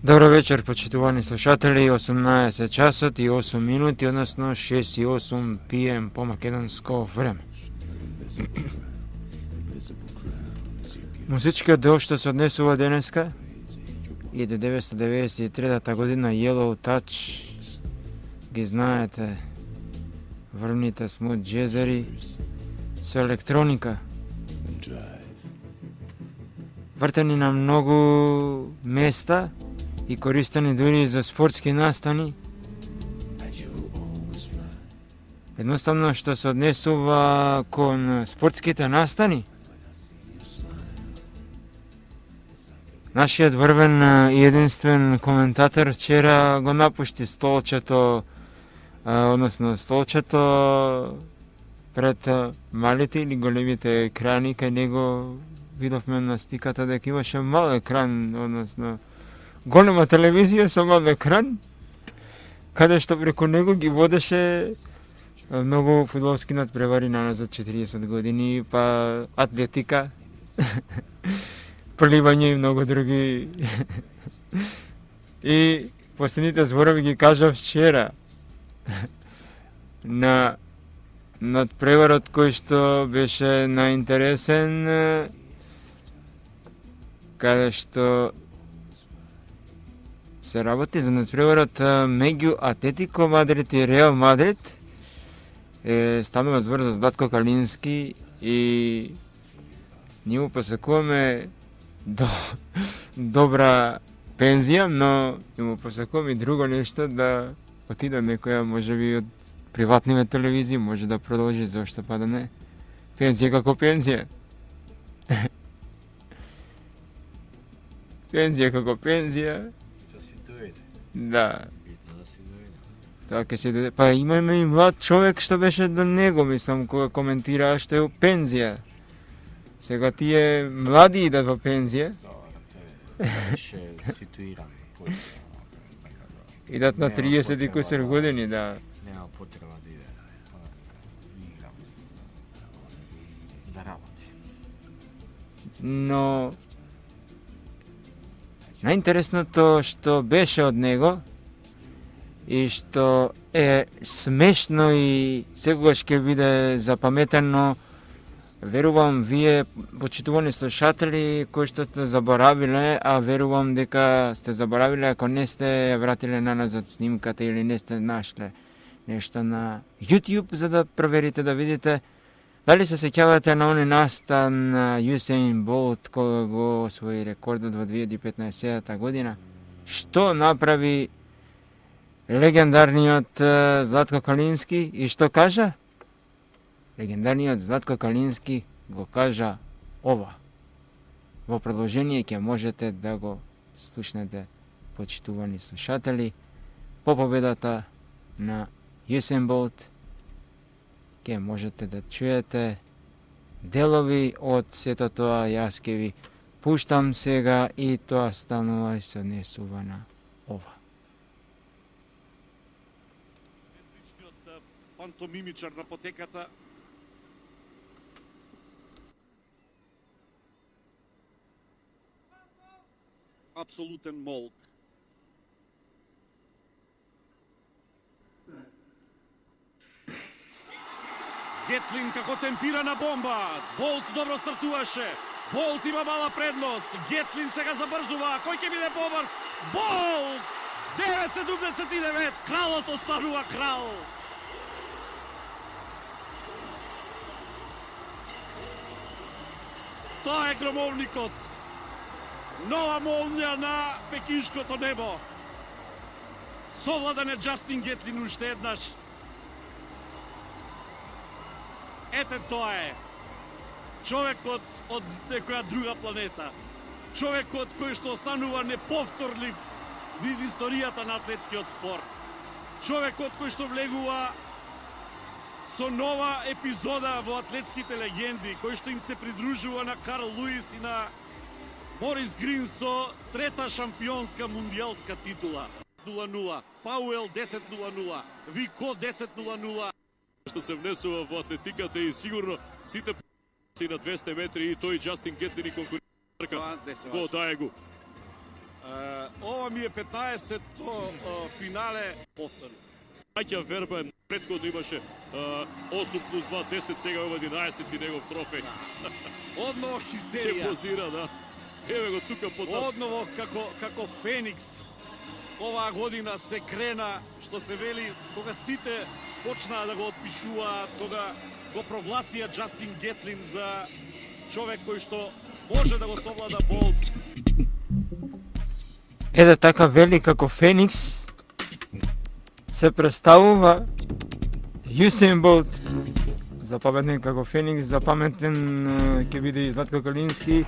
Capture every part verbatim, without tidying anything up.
Добро вечер, почитувани слушатели, осумнаесет часот и осум минути, односно шест и осум пи ем по македонско време. Музичкиот дел што се однесува денеска, илјада деветстотини деветдесет и трета година, Yellow Touch, ги знаете, врвните смут джезери со електроника, вртени на многу места и користени дури за спортски настани. Едноставно што се однесува кон спортските настани. Нашиот врвен и единствен коментатор вчера го напушти столчето, односно столчето пред малите или големите екрани, кај него видовме на стиката дека имаше мал екран, односно голема телевизија со мал екран, каде што преку него ги водеше многу фудбалски надпревари назад четириесет години, па атлетика, пливање и многу други. И последните зборови ги кажав вчера на надпреварот кој што беше најинтересен, каде што се работи за надпреварот меѓу Атлетико Мадрид и Реал Мадрид. Е, станува збор за Златко Калински и ние му посакуваме до, добра пензија, но и му посакуваме и друго нешто, да отиде некоја, можеби од приватниве телевизии, може да продолжи, зашто па да не. Пензија како пензија. Пензија како пензија. Да. Тоа ќе се дојде. Па имаме и млад човек што беше до него, мислам, кога коментираа што е у пензија. Сега тие млади идат во пензија. Беше ситуиран. Идат на триесет и кусер години, да. Нема потреба да иде. Игра, мислам. Да работи. Но најинтересното што беше од него и што е смешно и секогаш ќе биде запаметено, верувам вие, почитувани слушатели, кои што сте заборавиле, а верувам дека сте заборавиле ако не сте вратиле на назад снимката или не сте нашле нешто на YouTube за да проверите, да видите дали се сеќавате на оној настан на Юсейн Болт кога го освои рекордот во две илјади и петнаесета година. Што направи легендарниот Златко Калински и што кажа? Легендарниот Златко Калински го кажа ова. Во продолжение ќе можете да го слушнете, почитувани слушатели, по победата на Юсейн Болт. Ке можете да чуете делови од сето тоа. Јас ке ви пуштам сега и тоа станува и се однесува на ова. Личниот пантомимичар на потеката апсолутен молк. Гетлин како темпирана бомба. Болт добро стартуваше. Болт има мала предност. Гетлин сега забрзува. Кој ќе биде побрз? Болт! девет седумдесет и девет. Кралот останува крал. Тоа е громовникот. Нова молња на пекиншкото небо. Совладан е Џастин Гетлин уште еднаш. Ете тоа е. Човекот од некоја друга планета. Човекот кој што останува неповторлив низ историјата на атлетскиот спорт. Човекот кој што влегува со нова епизода во атлетските легенди, кој што им се придружува на Карл Луис и на Морис Грин со трета шампионска мундијалска титула. нула нула. Пауел десет нула нула. Вико десет нула нула. Што се внесува во атлетиката и сигурно сите си на двесте метри и тој Џастин Гетлин и конкурентка во Даегу. Uh, ова ми е петнаесетто uh, финале повторно. Маќа Верба претходно имаше uh, осум плюс два десет, сега ова единаесети негов трофеј. Одново Ќе хистерија. позира, да. Еве го тука под нас. Одново како како Феникс. Оваа година се крена, што се вели, кога сите почнаа да го отпишуваат, кога го прогласија Џастин Гетлин за човек кој што може да го совлада Болт. Еде така вели како Феникс се представува Јусеин Болт. Запаметен како Феникс, запаметен ќе биде и Златко Калински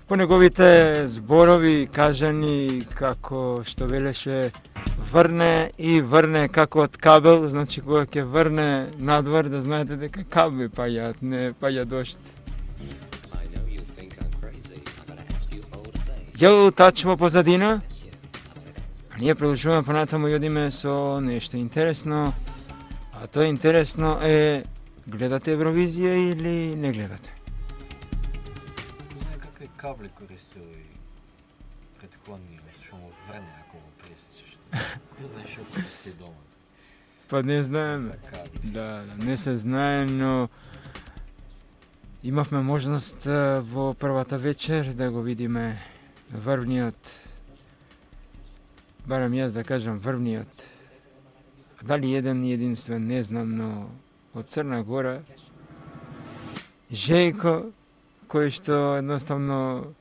по неговите зборови кажани како што велеше врне и врне како од кабел, значи кога ќе врне надвор да знаете дека кабли паѓаат, не паѓа дошт. Јел тач во позадина, а ние продолжуваме понатаму и одиме со нешто интересно, а тоа интересно е гледате Евровизија или не гледате? Знае какви кабли користил и предходни, што му врне ако го пресечеш. Кој знае што користи дома? Па не знаем. Да, да, не се знае, но имавме можност во првата вечер да го видиме врвниот, барем јас да кажам врвниот, дали еден и единствен, не знам, но од Црна Гора, Жејко, кој што едноставно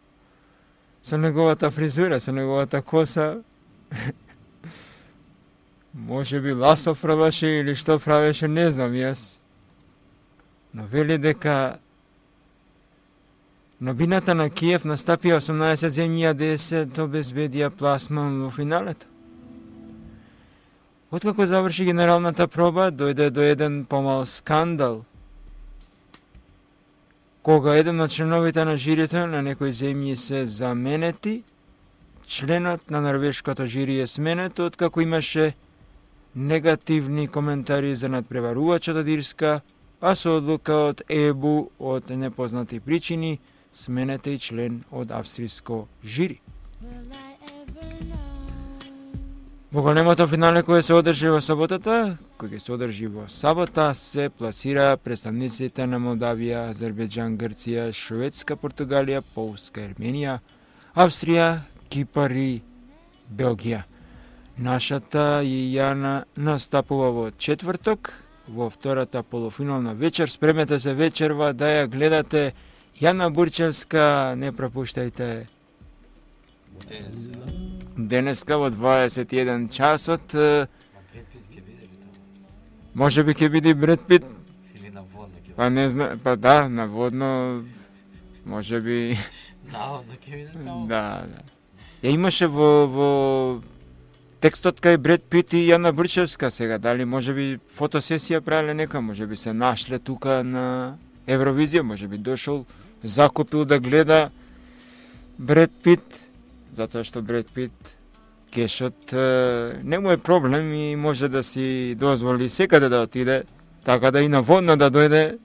со неговата фризура, со неговата коса, може би ласо фрлаше или што правеше, не знам јас. Но вели дека на бината на Киев настапија осумнаесет земји, а десет обезбедија пласман во финалето. Откако заврши генералната проба, дојде до еден помал скандал. Кога еден од членовите на жирито на некои земји се заменети, членот на норвешкото жири е сменет откако имаше негативни коментари за надпреварувачот од Ирска, а со одлука од ЕБУ од непознати причини сменете и член од австриско жири. Во големото финале кој се одржи во саботата, кој ќе се одржи во сабота, се пласира представниците на Молдавија, Азербејџан, Грција, Шведска, Португалија, Полска, Ерменија, Австрија, Кипар и Белгија. Нашата Јана настапува во четврток, во втората полуфинална вечер. Спремете се вечерва да ја гледате. Јана Бурчевска, не пропуштајте. Денеска во дваесет и еден часот. Може би ќе биде Бред Пит. Или наводно ќе. Па не знам, па да, наводно може би. Наводно ќе биде таму. Да, да. Ја имаше во во текстот кај Бред Пит и Јана Бурчевска сега, дали може би фотосесија правеле нека, може би се нашле тука на Евровизија, може би дошол, закупил да гледа Бред Пит, затоа што Бред Пит кешот не му е проблем и може да си дозволи секаде да отиде, така да и наводно да дојде.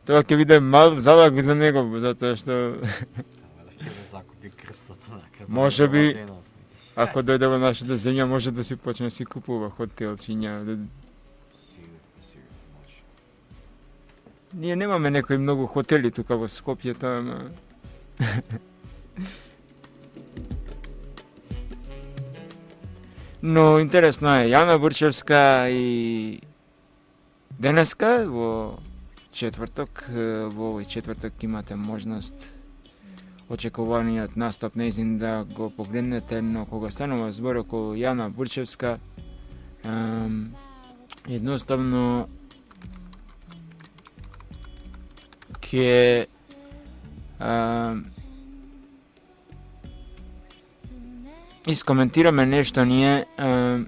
Тоа ќе биде мал залог за него, затоа што би крстото наказано. Може би, ако дојде во нашата земја, може да си почне да си купува хотелчиња. Да... Сигурно, сигурно може. Ние немаме некои многу хотели тука во Скопје, ама... Но интересно е, Јана Бурчевска и денеска во четврток, во овој четврток имате можност очекуваниот настап нејзин да го погледнете, но кога станува збор околу Јана Бурчевска, ем, едноставно ќе ем, искоментираме нешто ние ем,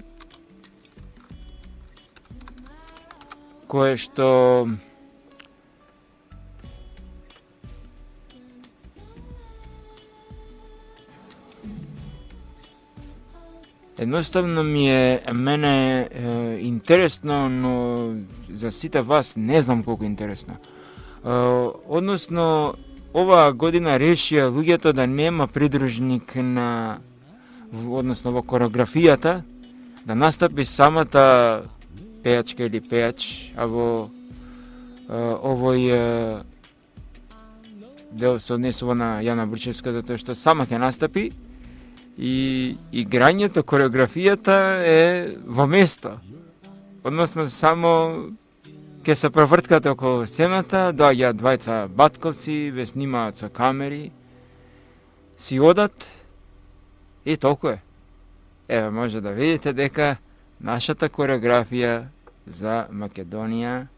кое што едноставно ми е мене е, интересно, но за сите вас не знам колку интересно. Е, односно, оваа година решија луѓето да нема придружник на, односно во кореографијата, да настапи самата пејачка или пејач, а во е, овој е, дел се однесува на Јана Бурчевска, затоа што сама ќе настапи, и играњето, кореографијата е во место. Односно, само ќе се проврткате околу сцената, доаѓаат двајца батковци, ве снимаат со камери, си одат и толку е. Еве, може да видите дека нашата кореографија за Македонија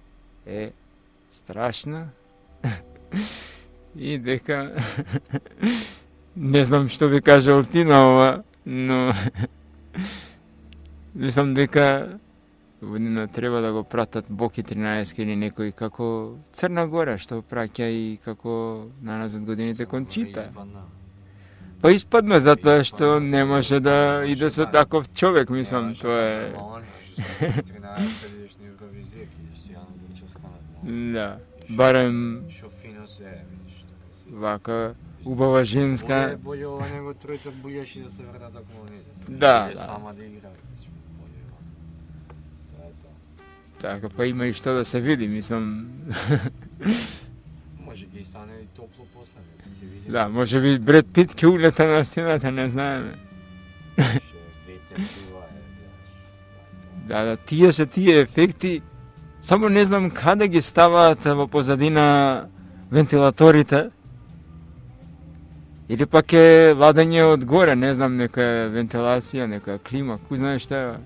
е страшна и дека не знам што би кажал ти на ова, но мислам дека не треба да го пратат Боки тринаесет или некој како Црна Гора, што праќа и како на назад годините кон Чита. Па испадна затоа што не може да иде со таков човек, мислам, тоа е... Да, барем... Вака... убава женска. Боле ова него тројца бујаши да се врнат околу нејзе. Да, да. Сама да игра. Тоа е тоа. Така, па има и што да се види, мислам. Може ќе стане и топло после, ќе видиме. Да, може би Бред Пит ќе улета на стената, не знаеме. Ше ветер това е, да, да, тие се тие ефекти. Само не знам каде ги ставаат во позадина вентилаторите. Или пак е ладење од горе, не знам, нека вентилација, нека клима, кој знае што е.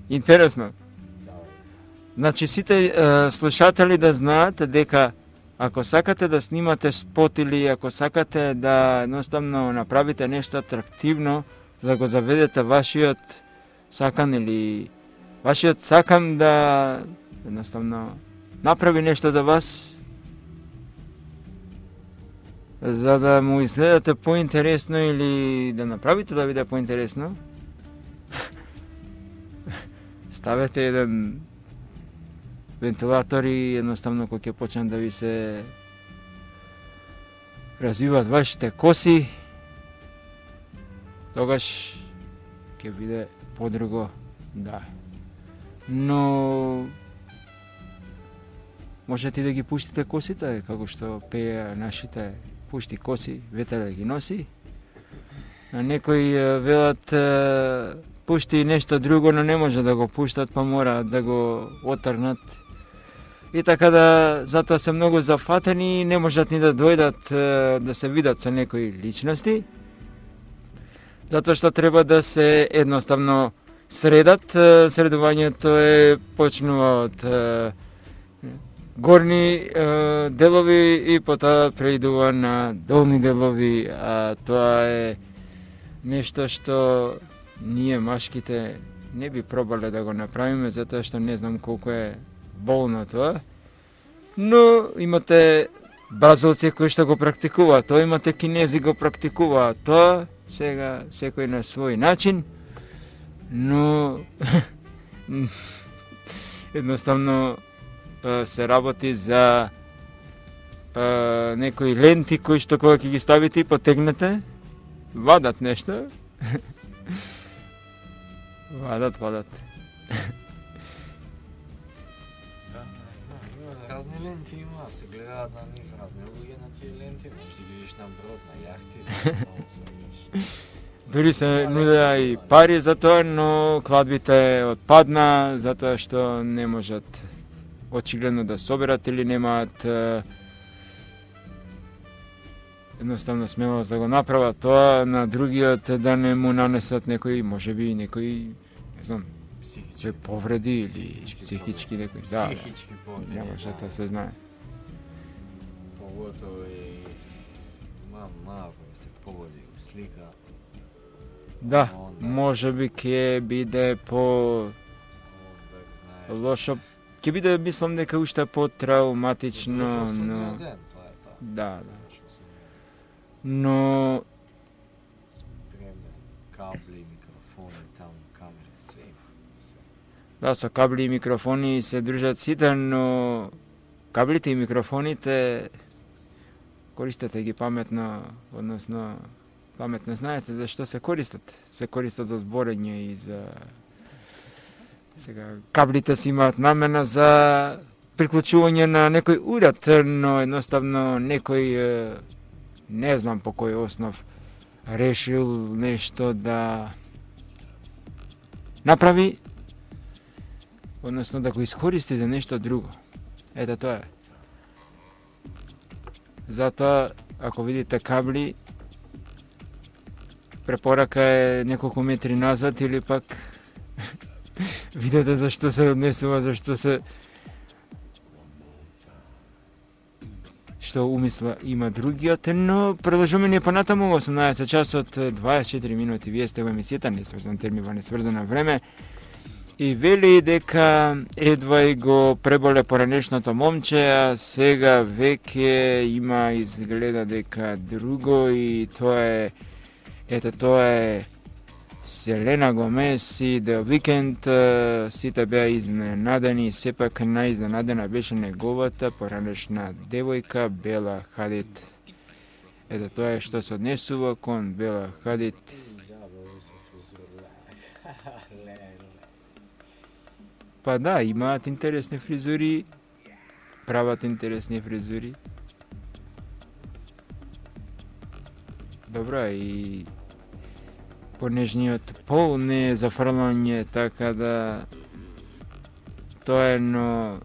Интересно. Значи, сите е, слушатели да знаат дека ако сакате да снимате спот или ако сакате да едноставно направите нешто атрактивно, да го заведете вашиот сакан или вашиот сакан да едноставно направи нешто за вас, за да му изгледате поинтересно или да направите да биде поинтересно, ставете еден вентилатор и едноставно кога ќе почнат да ви се развиваат вашите коси, тогаш ќе биде подруго, да. Но можете да ги пуштите косите, како што пее нашите пушти коси, ветер да ги носи. А некои велат пушти нешто друго, но не може да го пуштат, па мора да го отрнат. И така да, затоа се многу зафатени, не можат ни да дојдат да се видат со некои личности. Затоа што треба да се едноставно средат. Средувањето е почнува од горни е, делови и потоа преидува на долни делови, а тоа е нешто што ние машките не би пробале да го направиме, затоа што не знам колку е болно тоа. Но имате бразилци кои што го практикуваат тоа, имате кинези го практикуваат тоа, сега секој на свој начин, но едноставно се работи за а, некои ленти кои што кога ќе ги ставите и потегнете, вадат нешто. вадат, вадат. Да, има, има разни ленти има, се гледаат на нив разни луѓе на тие ленти, можеш да видиш на брод, на јахти, много се Дури се нудеа и пари за тоа, но кладбите отпадна, затоа што не можат очигледно да соберат или немаат е, едноставно смелост да го направат тоа, на другиот да не му нанесат некои, можеби некои, не знам, психички повреди или Психички психички некои. Да, психички повреди. да, може да се знае. Поготово и мам малко се погоди у слика. Да, Онда- можеби ќе биде по Онда знаеш. лошо, ќе биде мислам дека уште по-травматично, Дошол но судниот ден, тоа е тоа. да, да. Дошол судниот Но спремни кабли, микрофони, таму камери, све има. Све. да, со кабли и микрофони се дружат сите, но каблите и микрофоните користете ги паметно, односно паметно знаете за што се користат. Се користат за зборење и за сега каблите си имаат намена за приклучување на некој уред, но едноставно некој е, не знам по кој основ решил нешто да направи, односно да го искористи за нешто друго. Ето тоа е. Затоа, ако видите кабли, препорака е неколку метри назад или пак видете зашто се однесува, зашто се што умисла има другиот, но продолжуваме ние понатаму во осумнаесет часот дваесет и четири минути. Вие сте во емисијата Несврзан термин во несврзано време и вели дека едва и го преболе поранешното момче, а сега веќе има изгледа дека друго и тоа е ето тоа е Селена Гомес и The Weeknd. Сите беа изненадени, сепак наизненадена беше неговата поранешна девојка Бела Хадид. Ето тоа е што се однесува кон Бела Хадид. Па да, имаат интересни фризури, прават интересни фризури. Добра, и понежниот пол не е зафрлање, така да тоа е, но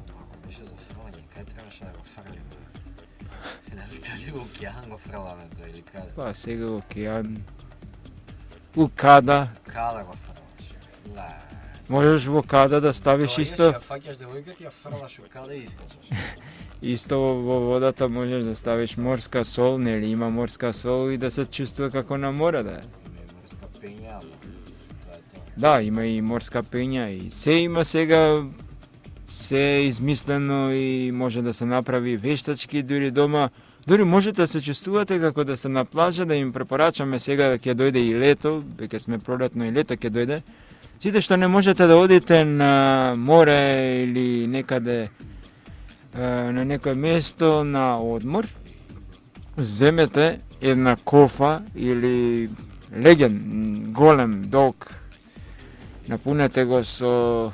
Ако беше за фрлање, кај требаше да го фрлиме? Нали дали во океан го фрламе тоа или каде? па сега океан, у када, Каде го фрлаш? Ле. можеш во када да ставиш Доаѓаш, исто, ја фаќаш девојката, ја фрлаш у каде и искачаш. исто во водата можеш да ставиш морска сол, нели има морска сол и да се чувствува како на море да е. Има и морска пења, ама тоа е тоа. Да, има и морска пења и се има сега, се е измислено и може да се направи вештачки дури дома. Дури можете да се чувствувате како да сте на плажа, да им препорачаме сега да ќе дојде и лето, веќе сме пролетно и лето ќе дојде. Сите што не можете да одите на море или некаде е, на некој место на одмор, земете една кофа или леген, голем, долг, напунете го со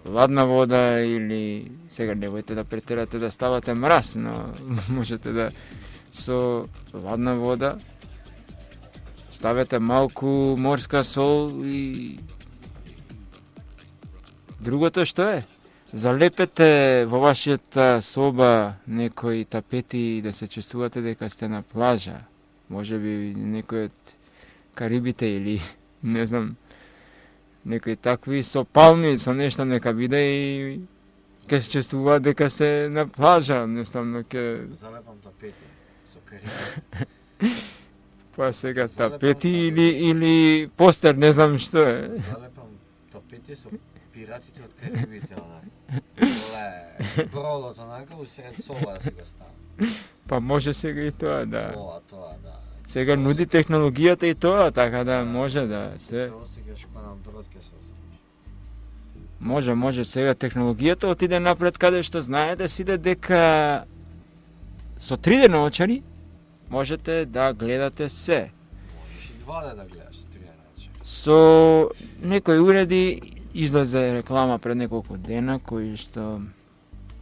ладна вода или сега немојте да претерате да ставате мраз, но можете да со ладна вода ставете малку морска сол и другото што е? Залепете во вашата соба некои тапети да се чувствувате дека сте на плажа. Може би некој од Карибите или не знам, некои такви со палми, со нешто нека биде и ќе се чувствува дека се на плажа, едноставно ќе Залепам тапети со карибите. па сега тапети или или постер, не знам што е. Залепам тапети со пиратите од Карибите, онака. Ле, бродот онака усред соба да си го ставам. Па може сега и тоа, да. Тоа, тоа, да. Сега нуди технологијата и тоа, така да може да се Се осеќаш кој на брод ке се осеќаш. може, може сега технологијата отиде напред каде што знаете сите дека со три дена очари можете да гледате се. Можеш и два да гледаш три дена очари. Со некои уреди излезе реклама пред неколку дена кои што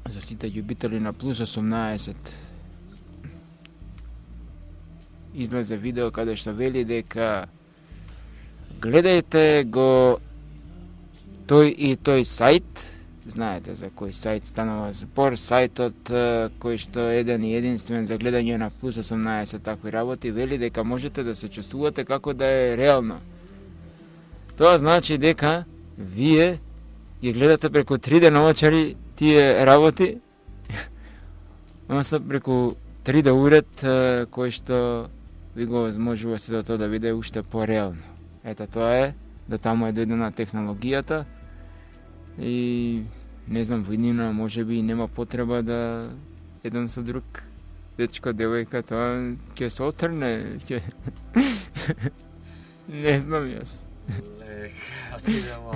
за сите љубители на плюс осумнаесет излезе видео каде што вели дека гледајте го тој и тој сајт, знаете за кој сајт станува збор, сајтот кој што е еден и единствен за гледање на плюс осумнаесет такви работи, вели дека можете да се чувствувате како да е реално. Тоа значи дека вие ги гледате преку три дена очари тие работи, односно преку три дé уред кој што ви го возможува се до тоа да биде уште пореално. Ето тоа е, до таму е дојдена технологијата и не знам, во иднина може би нема потреба да еден со друг дечко, девојка, тоа ќе се отрне, ќе... не знам јас. Лек, отидемо,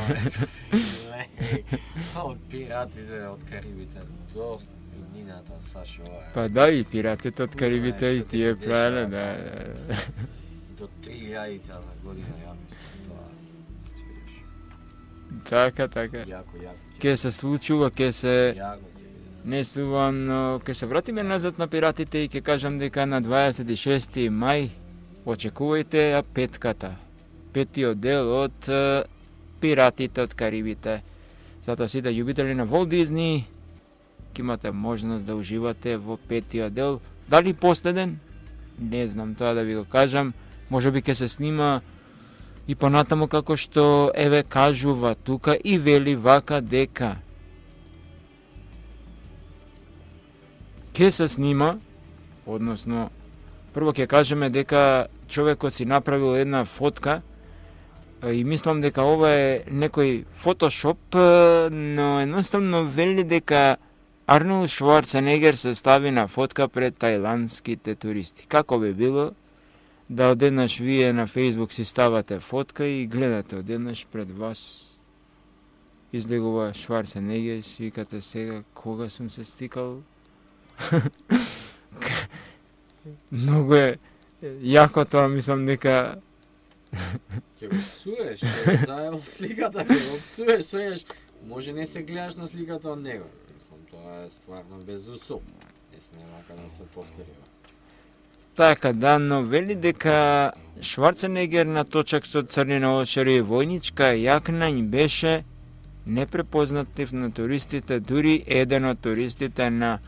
лек, од пиратите од Карибите до иднината, Сашо, ова е. Па да, и пиратите од Карибите и тие правеле, да. До три илјади на година, ја мислам, тоа. Така, така. Јако, јако. Ке се случува, ке се... Јако. Не сувам, но ке се вратиме назад на пиратите и ке кажам дека на дваесет и шести мај очекувајте ја петката. Петиот дел од uh, Пиратите од Карибите. Затоа сите љубители на Walt Disney ќе имате можност да уживате во петиот дел. Дали последен? Не знам тоа да ви го кажам. Може би ќе се снима и понатаму како што еве кажува тука и вели вака дека ќе се снима, односно прво ќе кажеме дека човекот си направил една фотка и мислам дека ова е некој фотошоп, но едноставно вели дека Арнолд Шварценегер се стави на фотка пред тајландските туристи. Како би било да одеднаш вие на Facebook си ставате фотка и гледате одеднаш пред вас излегува Шварценегер, викате сега кога сум се стикал. Многу е јако тоа, мислам дека ќе го псуеш, ќе заедно сликата, ќе го псуеш, свееш, може не се гледаш на сликата од него. Мислам, тоа е стварно безусобно. Не сме вака да се повторива. Така, да, но вели дека Шварценегер на точак со црни наочари и војничка јакна им беше непрепознатлив на туристите, дури еден од туристите на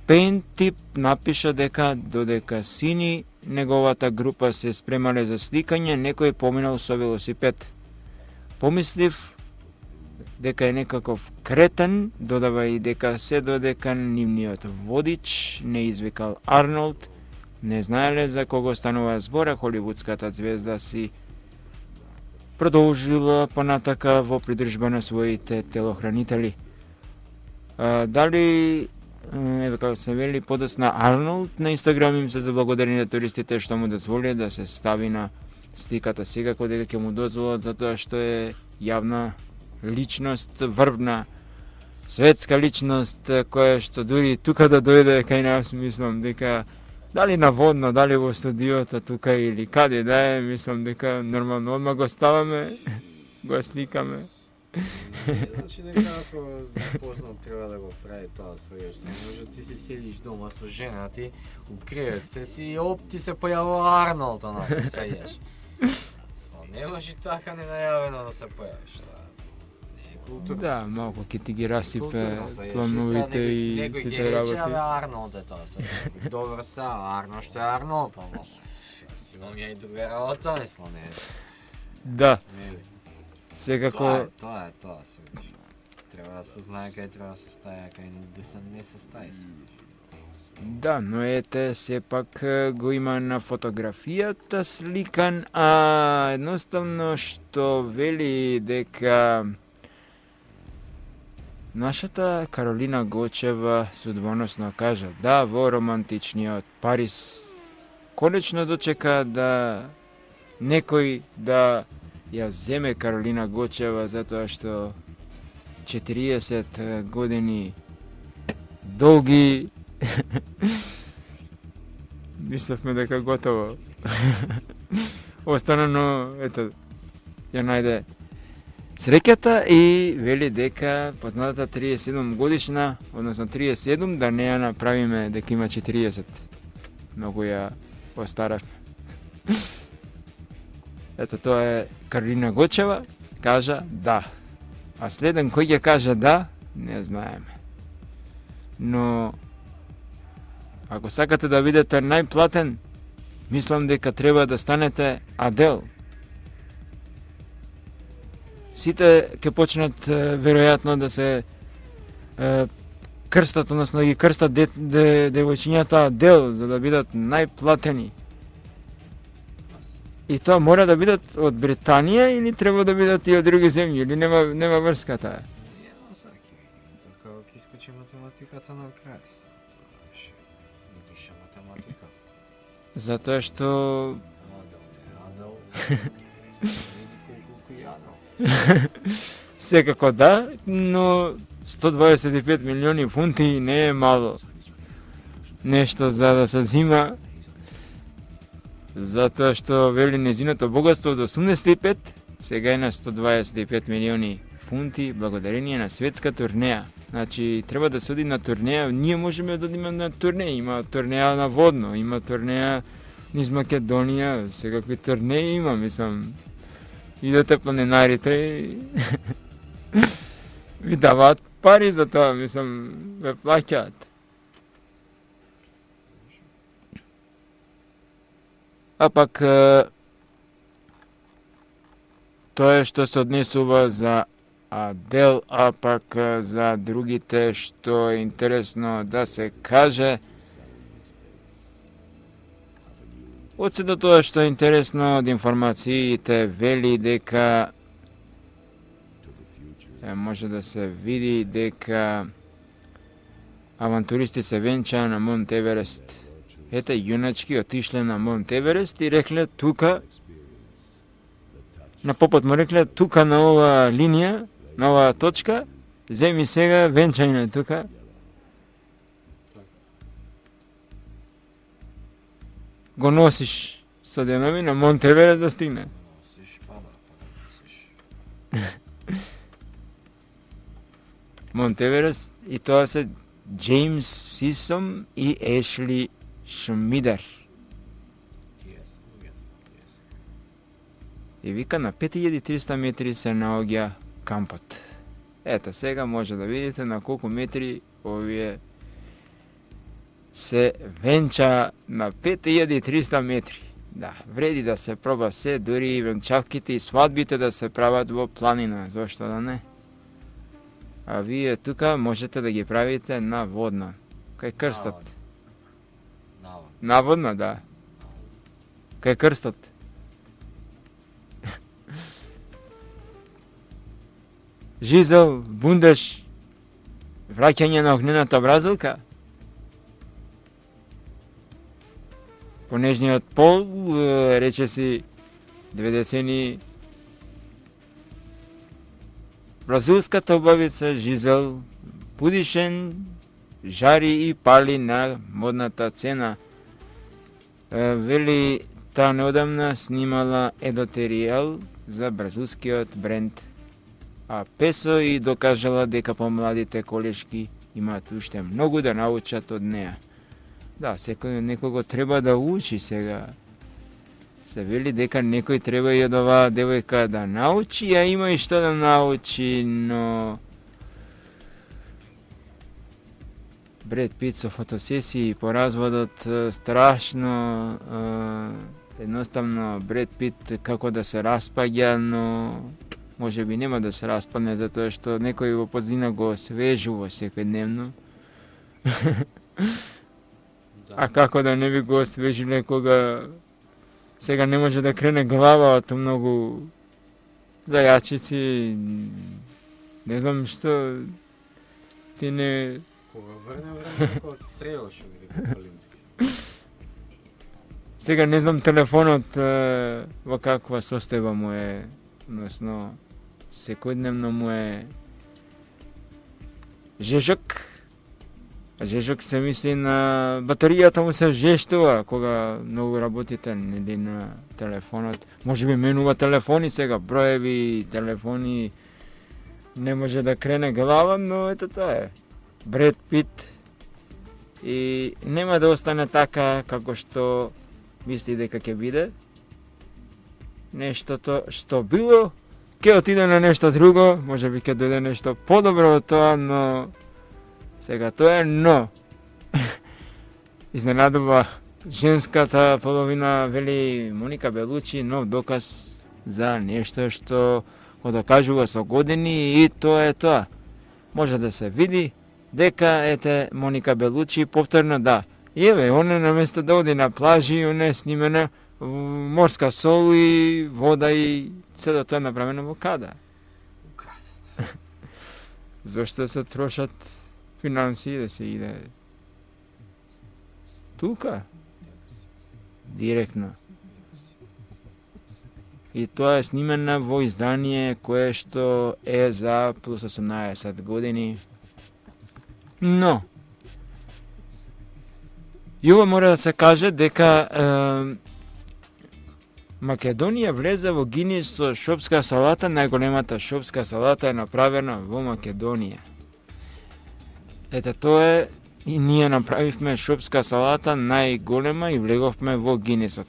Пентип напиша дека додека сини неговата група се спремале за сликање, некој поминал со велосипед. Помислив дека е некаков кретен, додава и дека се додека нивниот водич не извикал Арнолд, не знаеле за кого станува збора, холивудската звезда си продолжила понатака во придржба на своите телохранители. А, дали еве како се вели подосна Арнолд на Инстаграм им се заблагодари на туристите што му дозволија да се стави на сликата, секако дека ќе му дозволат затоа што е јавна личност, врвна светска личност која што дури тука да дојде кај нас, мислам дека дали наводно, дали во студиото тука или каде да е, мислам дека нормално одма го ставаме, го сликаме. Значи дека ако познат треба да го прави тоа својеш, може ти си седиш дома со жена ти, у кревет сте си и оп ти се појавува Арнолд, она ти се јеш. Не може така ненајавено да се појавиш, тоа не е културно. Да, малку ќе ти ги расипе плановите и сите работи. Некој ќе рече, Арнолд е тоа се. Добро се, Арно што е Арнолд, ама си имам ја и друга работа, мислам, не. Да. Секако... Тоа е, тоа е, тоа се вижи. Треба да се знае кај треба да се стаја, кај да се не се стаја се вижи. Да, но ете, сепак го има на фотографијата сликан, а едноставно што вели дека нашата Каролина Гочева судбоносно кажа да во романтичниот Париз конечно дочека да некој да ја земе Каролина Гочева затоа што четириесет години долги. Мислевме дека готово. Остана, но ето ја најде среќата и вели дека познатата триесет и седум годишна, односно триесет и седум, да не ја направиме дека има четириесет. Многу ја остаравме. Ето тоа е Каролина Гочева, кажа да. А следен кој ќе каже да, не знаеме. Но ако сакате да видите најплатен, мислам дека треба да станете Адел. Сите ќе почнат веројатно да се е, крстат, односно да ги крстат де, де, девојчињата Адел за да бидат најплатени. И тоа мора да бидат од Британија или треба да бидат и од други земји, или нема нема врска таа? Едно саки. Така ќе искочи математиката на крај. Виша математика. Затоа што Адел, Адел. Види колку јадел. секако да, но сто дваесет и пет милиони фунти не е мало. Нешто за да се зима. Затоа што вели незиното богатство од осумдесет и пет, сега е на сто дваесет и пет милиони фунти благодарение на светска турнеја. Значи треба да се оди на турнеја, ние можеме да одиме на турнеја, има турнеја на водно, има турнеја низ Македонија, секакви турнеи има, мислам. Идете планинарите и ви даваат пари за тоа, мислам, ве плаќаат. А пак тоа е што се однесува за Адел, а пак за другите што е интересно да се каже. Од се до тоа што е интересно од информациите вели дека е, може да се види дека авантуристи се венчаа на Монт Еверест. Ете, јуначки отишле на Монт Еверест и рекле тука, на попот му рекле тука на ова линија, на оваа точка, земи сега венчајне тука. Го носиш со денови на Монт Еверест да стигне. Носиш, пада, пада, носиш. Монт Еверест и тоа се Джеймс Сисом и Ешли Шмидер. И вика на пет илјади и триста метри се наоѓа кампот. Ето сега може да видите на колку метри овие се венча на пет илјади и триста метри. Да, вреди да се проба се, дури и венчавките и свадбите да се прават во планина, зошто да не? А вие тука можете да ги правите на водна, кај крстот. Наводна. Наводна, да. Кај крстот. Жизел, бундеш, враќање на огнената бразилка. По нежниот пол, рече си, две децени бразилската убавица Жизел Будишен жари и пали на модната цена. Вели, таа неодамна снимала едотеријал за бразилскиот бренд а Песо и докажала дека помладите колешки имаат уште многу да научат од неа. Да, секој некого треба да учи сега. Се вели дека некој треба и од оваа девојка да научи, а има и што да научи, но Бред Пит со фотосесии по разводот страшно, едноставно Бред Пит како да се распаѓа, но може би нема да се распадне затоа што некој во позадина го освежува секојдневно. Да. А како да не би го освежиле кога сега не може да крене глава од многу зајачици. Не знам што ти не... Кога врне време како од срело што ги Калински. Сега не знам телефонот во каква состојба му е, односно секојдневно му е жежок, А жешок се мисли на батеријата му се жештува кога многу работите нели на телефонот. Може би менува телефони сега, броеви, телефони, не може да крене глава, но ето тоа е. Бред Пит и нема да остане така како што мисли дека ќе биде. Нештото што било, ќе отиде на нешто друго, може би ќе дојде нешто подобро од тоа, но сега тоа е, но изненадува женската половина, вели Моника Белучи, нов доказ за нешто што го докажува со години и тоа е тоа. Може да се види дека ете Моника Белучи повторно да. И еве, она наместо да оди на плажи, она е снимена морска сол и вода и се да тоа е направено во када. Зошто се трошат финансии да се иде тука? Директно. И тоа е снимена во издание кое што е за плюс осумнаесет години. Но, и ова мора да се каже дека е, Македонија влезе во Гинис со шопска салата, најголемата шопска салата е направена во Македонија. Ете тоа е, и ние направивме шопска салата најголема и влеговме во Гинисот.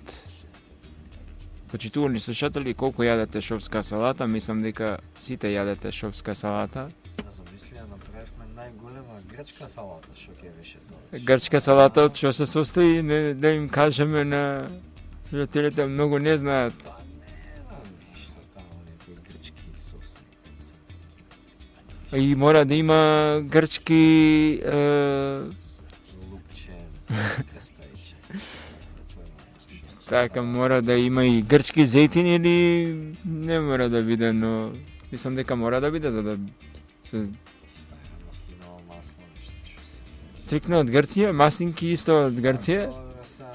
Почитувани слушатели, колку јадете шопска салата? Мислам дека сите јадете шопска салата. Аз замислија, направивме најголема грчка салата, што ќе беше тоа. Грчка салата од што се состои, не, да им кажеме на слушателите, многу не знаат. Па не знам ништо таму, некои грчки соси. И мора да има грчки е... Лупче, крстајче. Така, мора да има и грчки зејтин или не мора да биде, но мислам дека мора да биде за да се Ставиме маслиново масло, нешто се. стрикно од Грција, маслинки исто од Грција, Тоа са,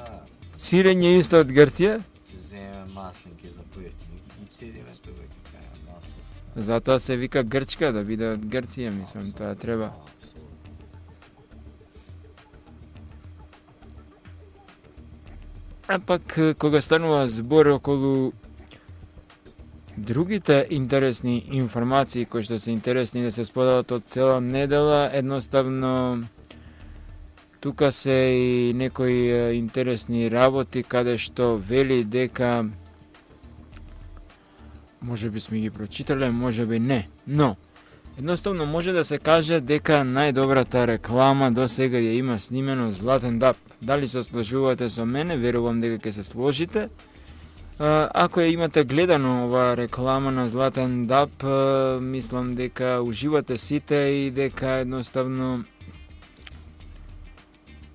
сирење исто од Грција, ќе земеме маслинки за поевтини и седиме тука ќе кажеме масло. затоа се вика грчка да биде од Грција, мислам, тоа треба. А пак, кога станува збор околу другите интересни информации кои што се интересни да се споделат од цела недела, едноставно тука се и некои интересни работи каде што вели дека може би сме ги прочитале, може би не, но едноставно може да се каже дека најдобрата реклама до сега ја има снимено Златен Дап. Дали се сложувате со мене, верувам дека ќе се сложите. А, ако ја имате гледано ова реклама на Златен Дап, а, мислам дека уживате сите и дека едноставно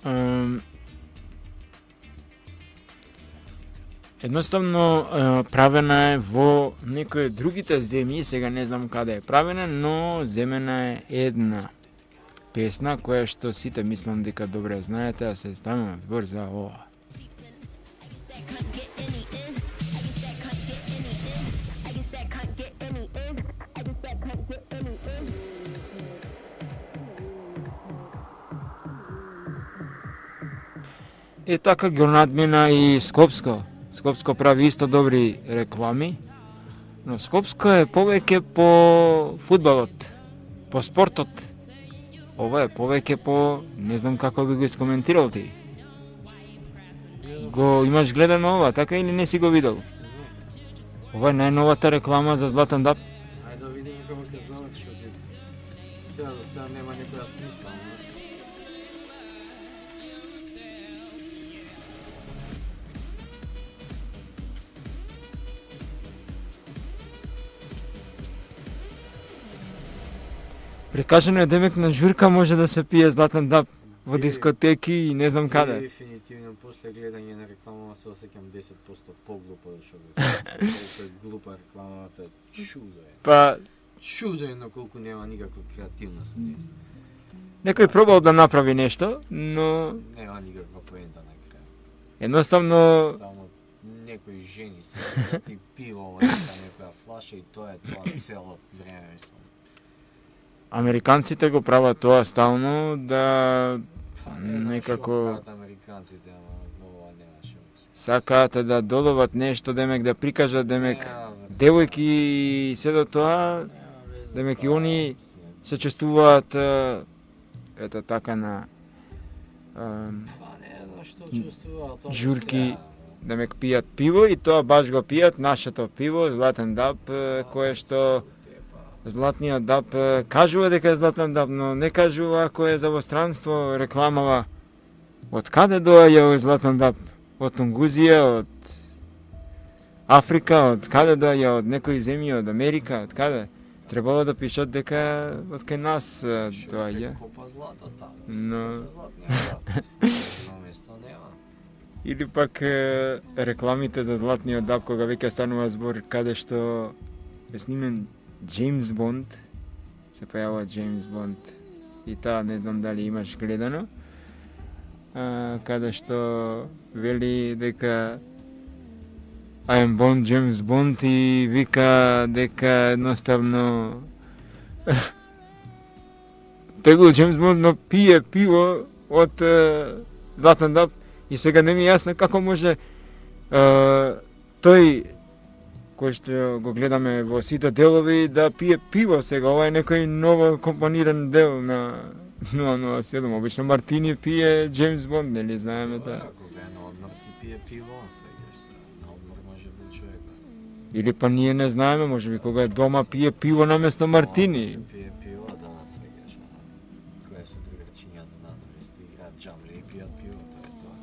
а, едноставно а, правена е во некои другите земји, сега не знам каде е правена, но земена е една песна која што сите мислам дека добре знаете, а се станува збор за ова. И така ги надмина и Скопско. Скопско прави исто добри реклами, но Скопско е повеќе по фудбалот, по спортот. Ова е повеќе по, не знам како би го искоментирал ти. Го имаш гледано ова, така или не си го видел? Ова е најновата реклама за Златен Дап. Ајде да видиме како ќе заврши, што сега за сега нема некоја смисла. Прикажано е демек на журка може да се пие Златен Дап во дискотеки и не знам каде. Дефинитивно после гледање на реклама се осеќам десет проценти поглупо, што е глупа рекламата, чудо е. Па Чудо е на колку нема никаква креативност. некој пробал да направи нешто, но Нема никаква поента на крај. едноставно Само некои жени се и пиво во некоја флаша и тоа е тоа цело време, мислам. американците го прават тоа стално да некако американците, ама ова немаше. Сакаат да додават нешто, демек да прикажат, демек девојки и се до тоа, демек и они се чувствуваат ето така на журки, демек пијат пиво и тоа баш го пијат нашето пиво, Златен даб, кое што Златниот даб кажува дека е Златен даб, но не кажува ако е за во странство рекламава. Од каде доаѓа Златен даб? Од Тунгузија, од Африка, од каде доаѓа, од некои земји, од Америка, од каде? Требало да пишат дека од кај нас доаѓа. Но или пак рекламите за Златниот даб кога веќе станува збор каде што е снимен Джеймс Бонд, се појавува Джеймс Бонд и таа не знам дали имаш гледано, а, каде што вели дека I am Bond, Джеймс Бонд и вика дека едноставно тегул Джеймс Бонд но пие пиво од Златен даб и сега не ми е јасно како може а, тој кој што го гледаме во сите делови да пие пиво сега. Ова е некој ново компониран дел на нула нула седум. Обично Мартини пие Джеймс Бонд, нели знаеме да. Кога е на одмор си пие пиво, свеѓаш се. На одмор може би човек. Или па ние не знаеме, можеби кога е дома пие пиво наместо Мартини. Пие пиво, да, свеѓаш. Кога се другарчињата на место играат джамли и пијат пиво, тоа е тоа.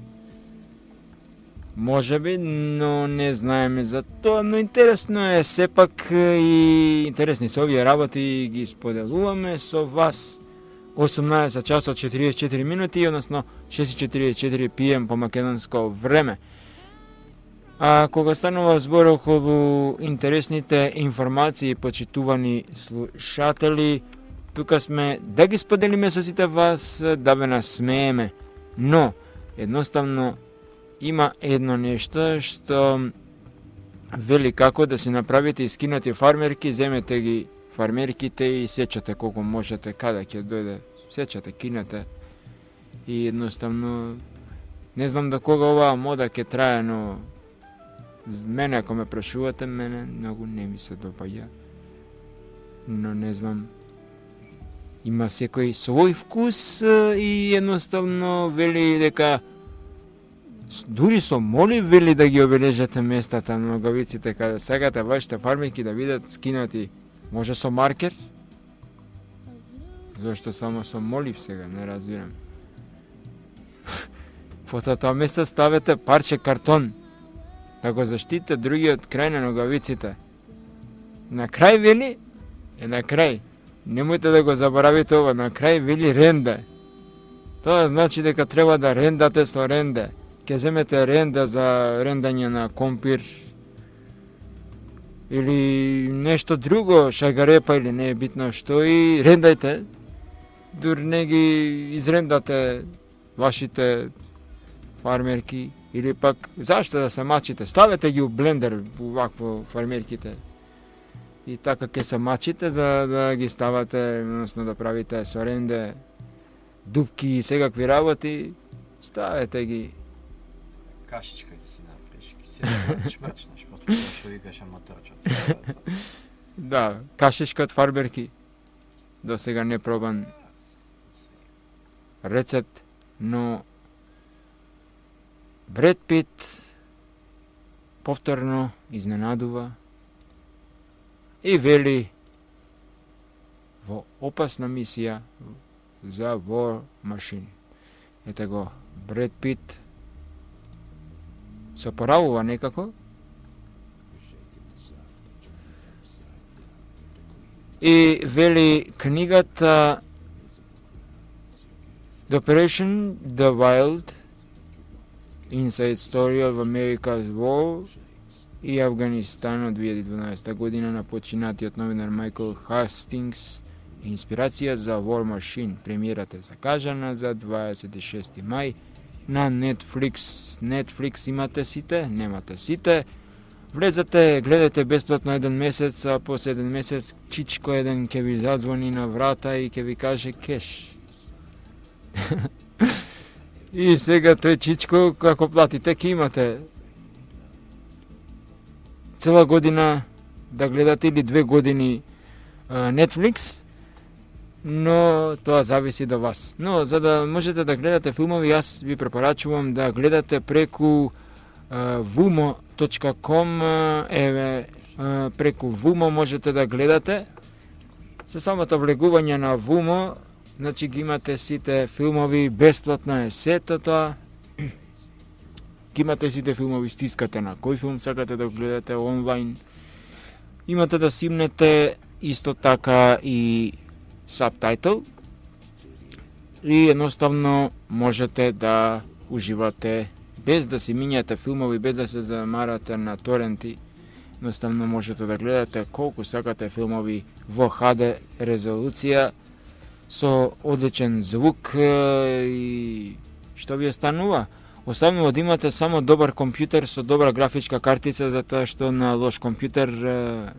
Можеби, но не знаеме за тоа, но интересно е сепак и интересни се овие работи ги споделуваме со вас. осумнаесет часот четиридесет и четири минути, односно шест и четиридесет и четири пи ем по македонско време. А кога станува збор околу интересните информации, почитувани слушатели, тука сме да ги споделиме со сите вас, да ве насмееме. Но, едноставно, има едно нешто што вели како да се направите искинати фармерки, земете ги фармерките и сечате колку можете, каде ќе дојде, сечате, кинете и едноставно не знам до кога оваа мода ќе трае, но мене ако ме прашувате, мене многу не ми се допаѓа. Но не знам, има секој свој вкус и едноставно вели дека дури со моли вели да ги обележате местата на ногавиците каде сакате вашите фармерки да видат скинати. Може со маркер? Зошто само со молив сега, не разбирам. По тоа место ставете парче картон, да го заштитите другиот крај на ногавиците. На крај вели, е на крај. Немојте да го заборавите ова, на крај вели ренде. Тоа значи дека треба да рендате со ренде. Ке земете ренда за рендање на компир или нешто друго, шагарепа или не е битно што и рендајте, дури не ги изрендате вашите фармерки или пак зашто да се мачите, ставете ги у блендер вакво фармерките и така ке се мачите за да ги ставате, односно да правите со ренде дупки и секакви работи, ставете ги. Кашичка ќе си направиш, ќе си шмрчнеш, после што викаш аматорчот. Да, кашичка од фарберки. До сега не пробан рецепт, но Бред Пит повторно изненадува и вели во опасна мисија за War Machine. Ете го, Бред Пит се поравува некако и вели книгата The Operation The Wild Inside Story of America's War и Афганистан од две илјади и дванаесета година на починатиот новинар Майкл Хастингс, инспирација за War Machine. Премиерата е закажана за дваесет и шести мај на Netflix. Netflix имате сите, немате сите. Влезете, гледате бесплатно еден месец, а после еден месец чичко еден ќе ви зазвони на врата и ќе ви каже кеш. И сега тој чичко, како платите, ќе имате цела година да гледате или две години uh, Netflix, но тоа зависи до вас. Но за да можете да гледате филмови, јас ви препорачувам да гледате преку uh, vumo точка com, еве uh, преку Vumo можете да гледате. Со самото влегување на Vumo, значи ги имате сите филмови, бесплатно е сето тоа. Ги имате сите филмови, стискате на кој филм сакате да гледате онлайн. Имате да симнете исто така и сабтайтл и едноставно можете да уживате без да си минјате филмови, без да се замарате на торенти. Едноставно можете да гледате колку сакате филмови во Х Д резолуција со одличен звук и што ви останува? Останува да имате само добар компјутер со добра графичка картица, затоа што на лош компјутер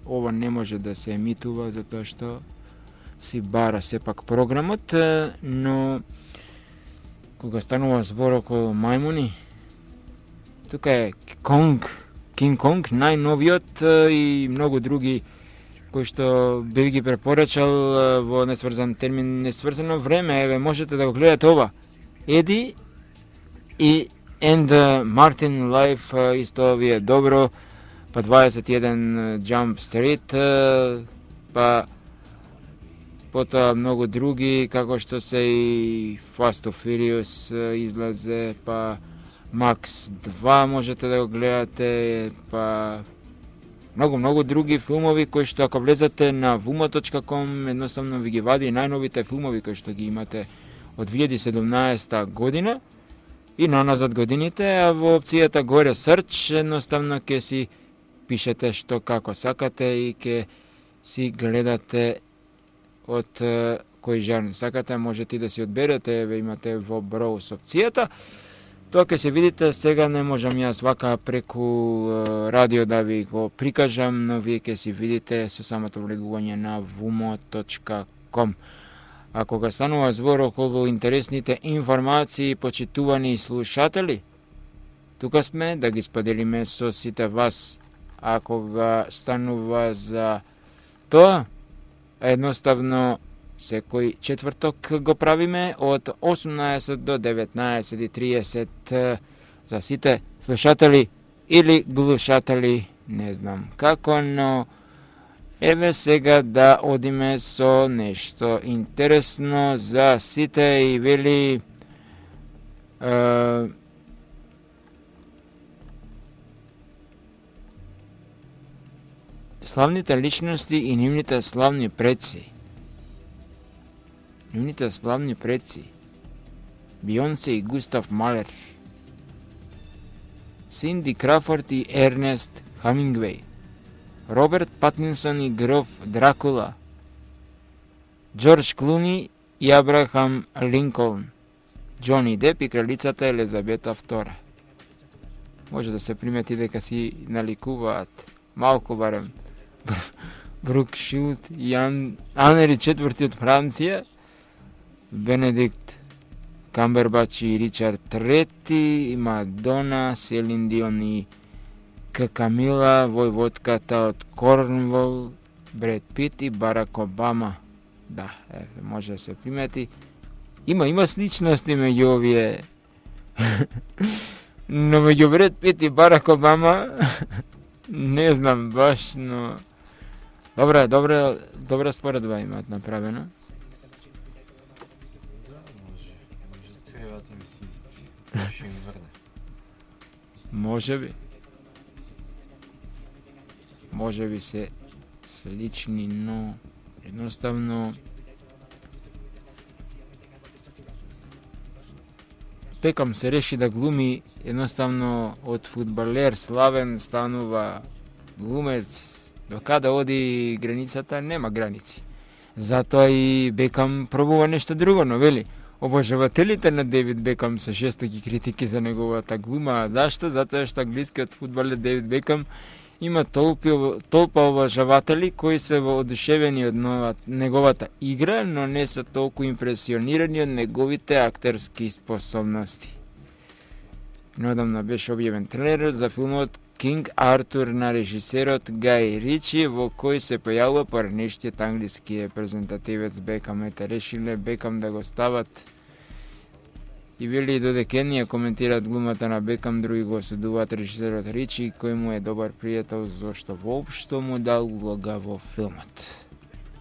ова не може да се емитува, затоа што си бара сепак програмот, но кога станува збор околу мајмуни, тука е Конг, Кинг Конг, најновиот и многу други кои што би ги препорачал во несврзан термин, несврзано време. Еве, можете да го гледате ова. Еди и And Martin Life исто ви е добро, па дваесет и еден Jump Street, па потоа многу други, како што се и Fast and Furious излазе, па Max два можете да го гледате, па многу, многу други филмови кои што ако влезете на vumo точка com едноставно ви ги вади најновите филмови кои што ги имате од две илјади и седумнаесета година и наназад годините, а во опцијата горе Search едноставно ќе си пишете што како сакате и ќе си гледате од кој жанр сакате, можете и да си одберете, еве имате во Browse опцијата. Тоа ќе се видите, сега не можам јас вака преку радио да ви го прикажам, но вие ќе си видите со самото влегување на vumo точка com. А кога станува збор околу интересните информации, почитувани слушатели, тука сме да ги споделиме со сите вас. А кога станува за тоа, едноставно секој четврток го правиме од осумнаесет до деветнаесет и триесет за сите слушатели или глушатели, не знам како, но еве сега да одиме со нешто интересно за сите и вели е, славните личности и нивните славни предци. Нивните славни предци. Бионсе и Густав Малер. Синди Крафорд и Ернест Хамингвей. Роберт Патинсон и гроф Дракула. Джордж Клуни и Абрахам Линколн. Џони Деп и кралицата Елизабета втора. Може да се примети дека си наликуваат малку барем Брук Шилд и Ан... Анери четврти од Франција, Бенедикт Камбербач и Ричард трети, Мадона, Селин Дион и Камила, војводката од Корнвол, Бред Пит и Барак Обама. Да, е, може да се примети. Има, има сличности меѓу овие. Но меѓу Бред Пит и Барак Обама не знам баш, но добра, добра, добра споредба имаат направено. Да, може, може требата ми си исти. Ще им врне. Може би. Може би се слични, но едноставно Бекам се реши да глуми, едноставно од фудбалер славен станува глумец. До каде оди границата, нема граници. Затоа и Бекам пробува нешто друго, но вели, обожавателите на Девид Бекам се жестоки критики за неговата глума. Зашто? Затоа што англискиот фудбалер Девид Бекам Има толпи, толпа обожаватели кои се воодушевени од нова, неговата игра, но не се толку импресионирани од неговите актерски способности. Неодамна беше објавен трейлер за филмот Кинг Артур на режисерот Гај Ричи, во кој се појавува поранешниот англиски репрезентативец Бекам. Ете, решиле Бекам да го стават и вели додека едни ја коментираат глумата на Бекам, други го осудуваат режисерот Ричи, кој му е добар пријател, зошто воопшто му дал улога во филмот.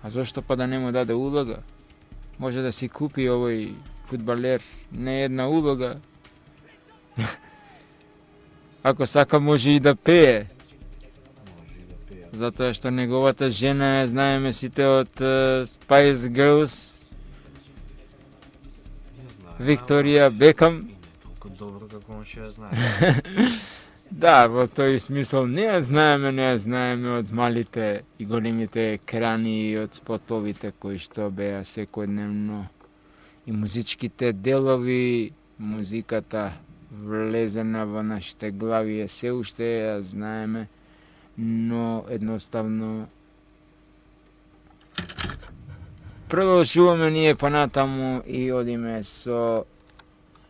А зошто па да не му даде улога? Може да си купи овој фудбалер не една улога. Ако сака може и да пее. Може и да пее. Затоа што неговата жена, знаеме сите од uh, Spice Girls, Викторија Бекам. И не толку добро како он ќе ја знае. Да, во тој смисол не ја знаеме, не ја знаеме од малите и големите екрани и од спотовите кои што беа секојдневно. И музичките делови, музиката влезена во нашите глави е се уште ја знаеме, но едноставно продолжуваме ние понатаму и одиме со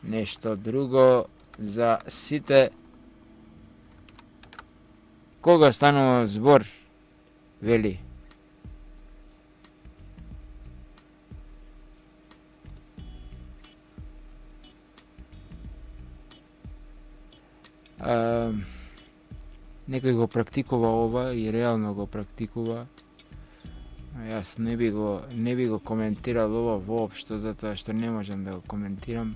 нешто друго за сите кога станува збор, вели. А, некој го практикува ова и реално го практикува. Јас не би го не би го коментирал ова воопшто, затоа што не можам да го коментирам.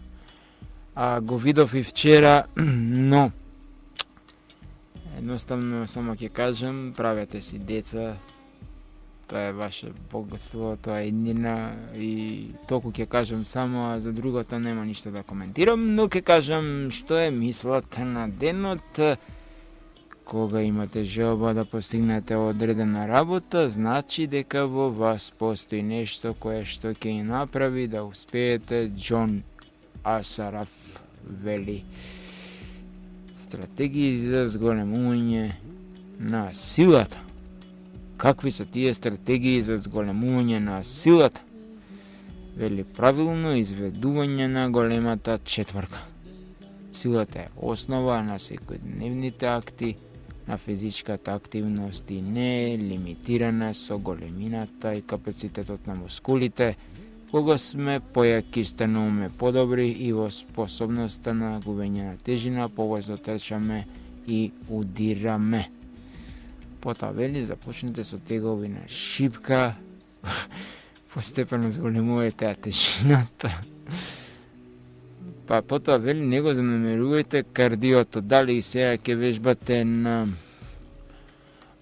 А го видов и вчера, но едноставно само ќе кажам, правете си деца. Тоа е ваше богатство, тоа е иднина и толку ќе кажам само, а за другото нема ништо да коментирам, но ќе кажам што е мислата на денот. Кога имате желба да постигнете одредена работа, значи дека во вас постои нешто кое што ќе ја направи да успеете. Џон Асараф вели. Стратегии за зголемување на силата. Какви се тие стратегии за зголемување на силата? Вели правилно изведување на големата четворка. Силата е основа на секојдневните акти, на физичката активност и не е лимитирана со големината и капацитетот на мускулите. Кога сме појаки, стануваме подобри и во способноста на губење на тежина, побрзо трчаме и удираме. Потоа вели започнете со тегови на шипка, постепено зголемувате тежината. Па потоа вели не го занемерувајте кардиото, дали сега ќе вежбате на,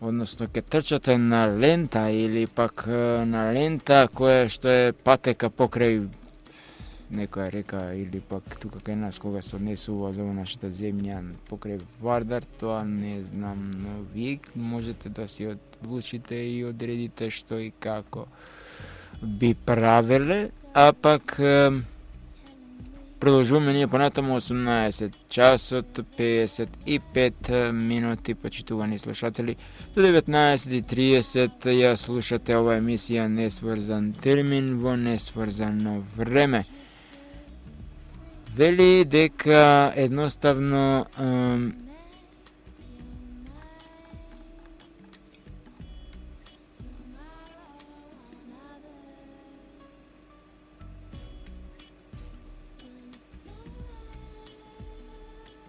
односно ќе трчате на лента или пак на лента која што е патека покрај некоја река или пак тука кај нас кога се однесува за нашата земја покрај Вардар, тоа не знам, но вие можете да си одлучите и одредите што и како би правеле, а пак продолжуваме ние понатаму осумнаесет часот педесет и пет минути, почитувани слушатели. До деветнаесет и тридесет ја слушате ова емисија Несврзан термин во несврзано време. Вели дека едноставно ем,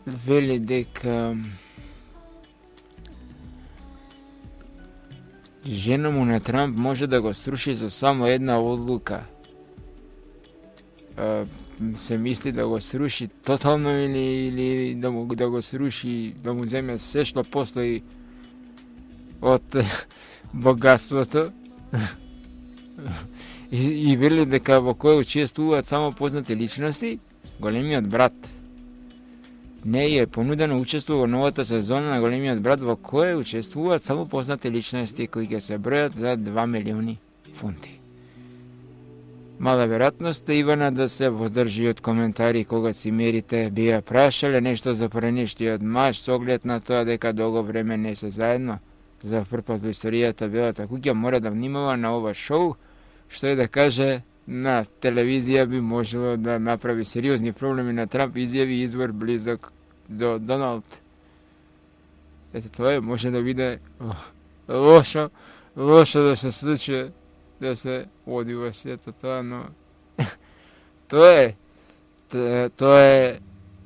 вели дека жена му на Трамп може да го сруши со само една одлука. Е, се мисли да го сруши тотално или, или да, му, да го сруши, да му земе се што постои од богатството. и, и вели дека во кој учествуваат само познати личности, големиот брат. Не е понудено учество во новата сезона на Големиот брат, во кој учествуваат само познати личности кои ќе се бројат за два милиони фунти. Мала веројатност е Ивана да се воздржи од коментари кога си мерите би ја прашале нешто за преништиот маж со оглед на тоа дека долго време не се заедно. За прв пат во историјата Белата куќа мора да внимава на ова шоу, што е да каже на телевизија би можело да направи сериозни проблеми на Трамп, изјави извор близок до Доналд. Ете, тоа е, може да биде лошо, лошо да се случи, да се оди во сето тоа, но тоа е, тоа е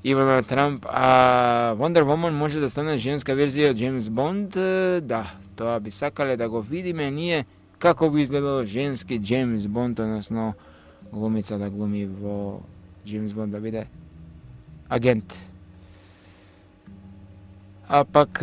Ивана Трамп, а Wonder Woman може да стане женска верзија од Джеймс Бонд, да, тоа би сакале да го видиме ние, како би изгледало женски Джеймс Бонд, односно глумица да глуми во Джеймс Бонд, да биде агент. А пак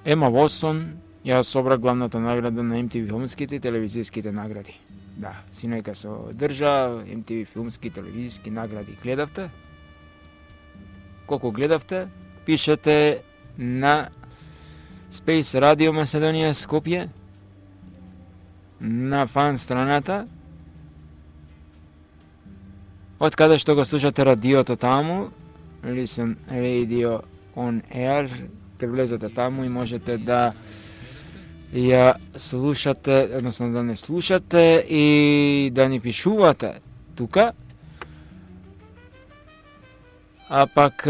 Ема Уотсон ја собра главната награда на Ем Ти Ви филмските и телевизиските награди. Да, синојка се одржа Ем Ти Ви филмски и телевизиски награди. Гледавте? Колку гледавте? Пишете на Space Radio Macedonија Скопје, на фан страната, од каде што го слушате радиото таму, Listen Radio on Air, ке влезете таму и можете да ја слушате, односно да не слушате и да ни пишувате тука. А пак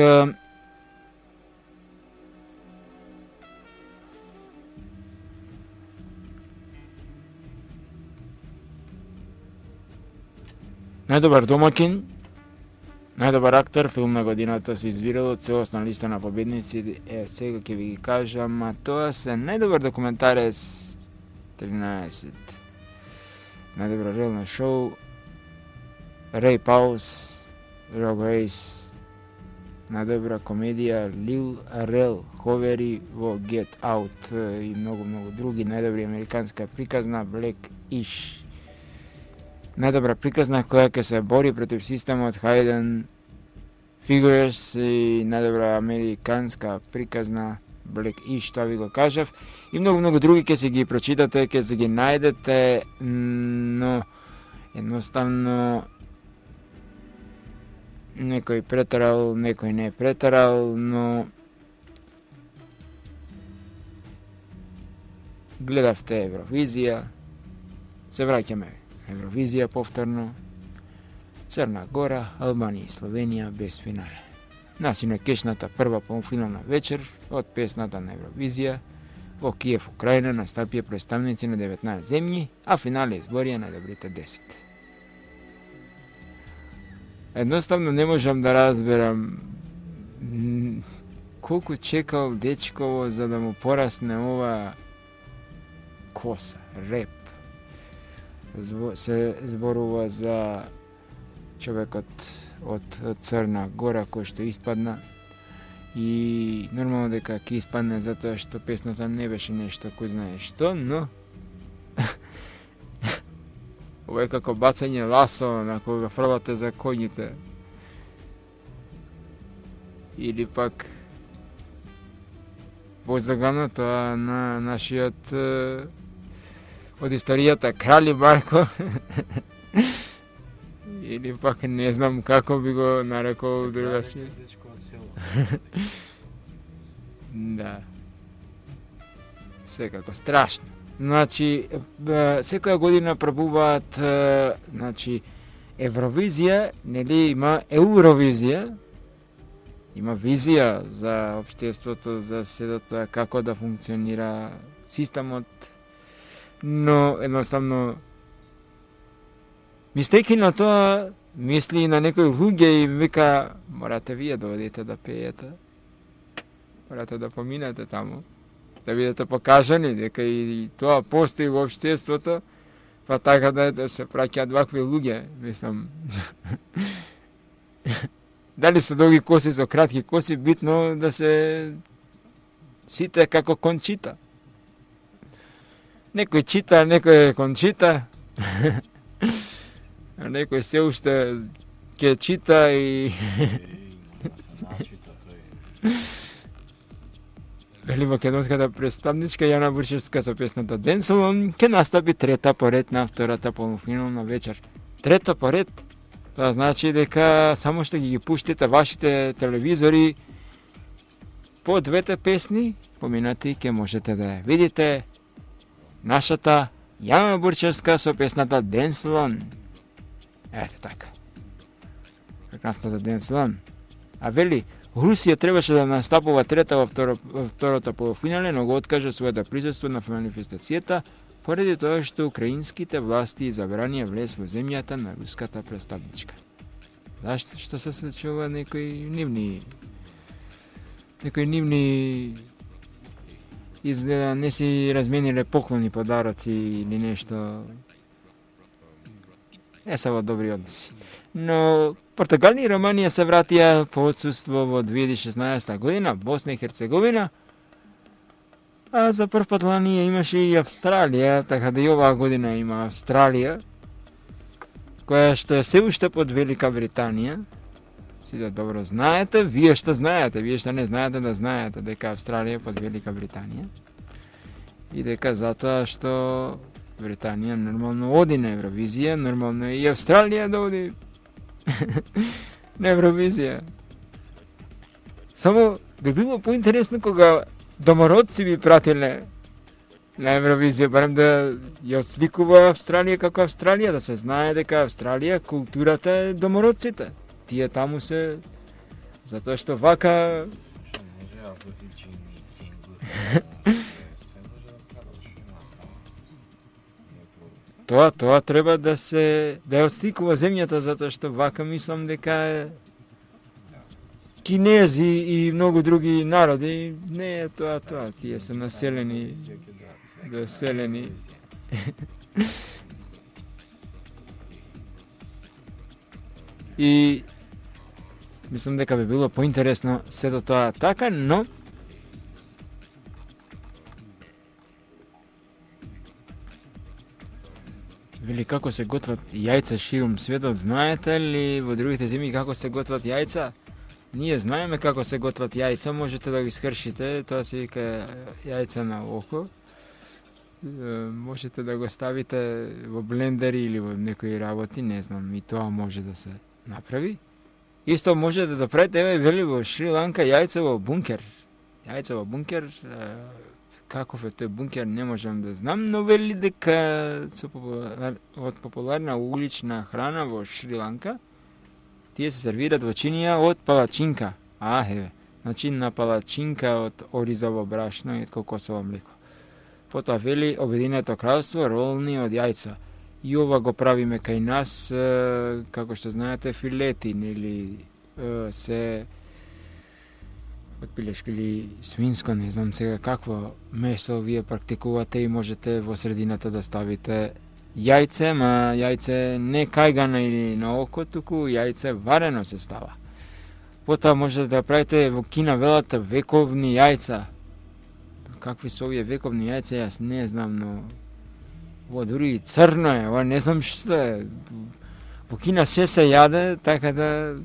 најдобар домакин, најдобар актер, филм на годината се избирало целосна листа на победници, е, сега ќе ви ги кажам, а тоа се најдобар документарец тринаесет, најдобар реално шоу, Рей Паус, Рог Рейс, најдобра комедија, Лил Рел Ховери во Get Out и многу, многу други, најдобри американска приказна, Black Ish, најдобра приказна која ќе се бори против системот Hidden Figures и најдобра американска приказна Black Ish, тоа ви го кажав. И многу, многу други ќе се ги прочитате, ќе се ги најдете, но едноставно некој претарал, некој не претарал, но гледавте Евровизија, се враќаме Евровизија повторно, Црна Гора, Албанија и Словенија без финале. Насино кешната прва полуфинална вечер од песната на Евровизија во Киев, Украина, настапија представници на деветнаесет земји, а финале изборија најдобрите десет. Едноставно не можам да разберам колку чекал дечково за да му порасне ова коса, реп. Се зборува за човекот од Црна Гора кој што испадна и нормално дека ќе испадне затоа што песната не беше нешто кој знае што, но ова е како бацање ласо на кога фрлате за коњите. Или пак возлагано тоа на нашиот од историјата Крали Марко. Или пак не знам како би го нарекол другачи. Да. Секако страшно. Значи, секоја година пробуваат, значи, Евровизија, нели има Евровизија, има визија за општеството, за седото, како да функционира системот, но едноставно мистеки на тоа мисли на некои луѓе и вика, морате вие да одите да пеете, морате да поминете таму, да бидете покажани дека и тоа постои во општеството, па така да се праќаат вакви луѓе, мислам. Дали се долги коси, со кратки коси, битно да се сите како Кончита. Некој чита, некој Кончита, а некој се уште ќе чита и... Вели македонската представничка Јана Буршевска со песната Денселон ќе настапи трета поред на втората полуфинална вечер. Трета поред, тоа значи дека само што ги ги пуштите вашите телевизори по двете песни поминати ќе можете да ја видите нашата Јана Буршевска со песната Денселон. Ете така. Прекрасната Денселон. А вели, Русија требаше да настапува трета во, второ, во втората полуфинале, но го откажа своето присуство на манифестацијата поради тоа што украинските власти забранија влез во земјата на руската представничка. Зашто? Што се случува некои нивни некои нивни изгледа не си размениле поклони, подароци или нешто. Не се во добри односи. Но Португалија и Романија се вратија по отсуство во две илјади и шеснаесета година, Босна и Херцеговина, а за прв пат лани имаше и Австралија, така да и оваа година има Австралија, која што е се уште под Велика Британија. Сите добро знаете, вие што знаете, вие што не знаете да знаете дека Австралија е под Велика Британија и дека затоа што Британија нормално оди на Евровизија, нормално е и Австралија да оди на Евровизија. Само би било поинтересно кога домородци би пратиле на Евровизија, барем да ја сликува Австралија како Австралија, да се знае дека Австралија културата е домородците. Тие таму се затоа што вака Тоа, тоа треба да се да ја отсликува земјата, затоа што вака мислам дека кинези и многу други народи не е тоа тоа, тие се населени, доселени. И мислам дека би било поинтересно сето тоа така, но вели како се готват јајца ширум светот, знаете ли во другите земји како се готват јајца? Ние знаеме како се готват јајца, можете да ги скршите, тоа се вика јајца на око. Можете да го ставите во блендер или во некои работи, не знам, и тоа може да се направи. Исто може да направите, еве вели во Шри-Ланка јајца во бункер. Јајца во бункер, каков е тој бункер не можам да знам, но вели дека со популар... од популарна улична храна во Шри-Ланка, тие се сервират во чинија од палачинка. А, еве, значи на палачинка од оризово брашно и од кокосово млеко. Потоа вели Обединето кралство ролни од јајца. И ова го правиме кај нас, како што знаете, филети, или се од пилешко или свинско, не знам сега какво месо вие практикувате и можете во средината да ставите јајце, ма јајце не кајгано или на око, туку јајце варено се става. Потоа можете да правите во Кина велат вековни јајца. Какви се овие вековни јајца, јас не знам, но ова дури и црно е, ова не знам што е. Во Кина се се јаде, така да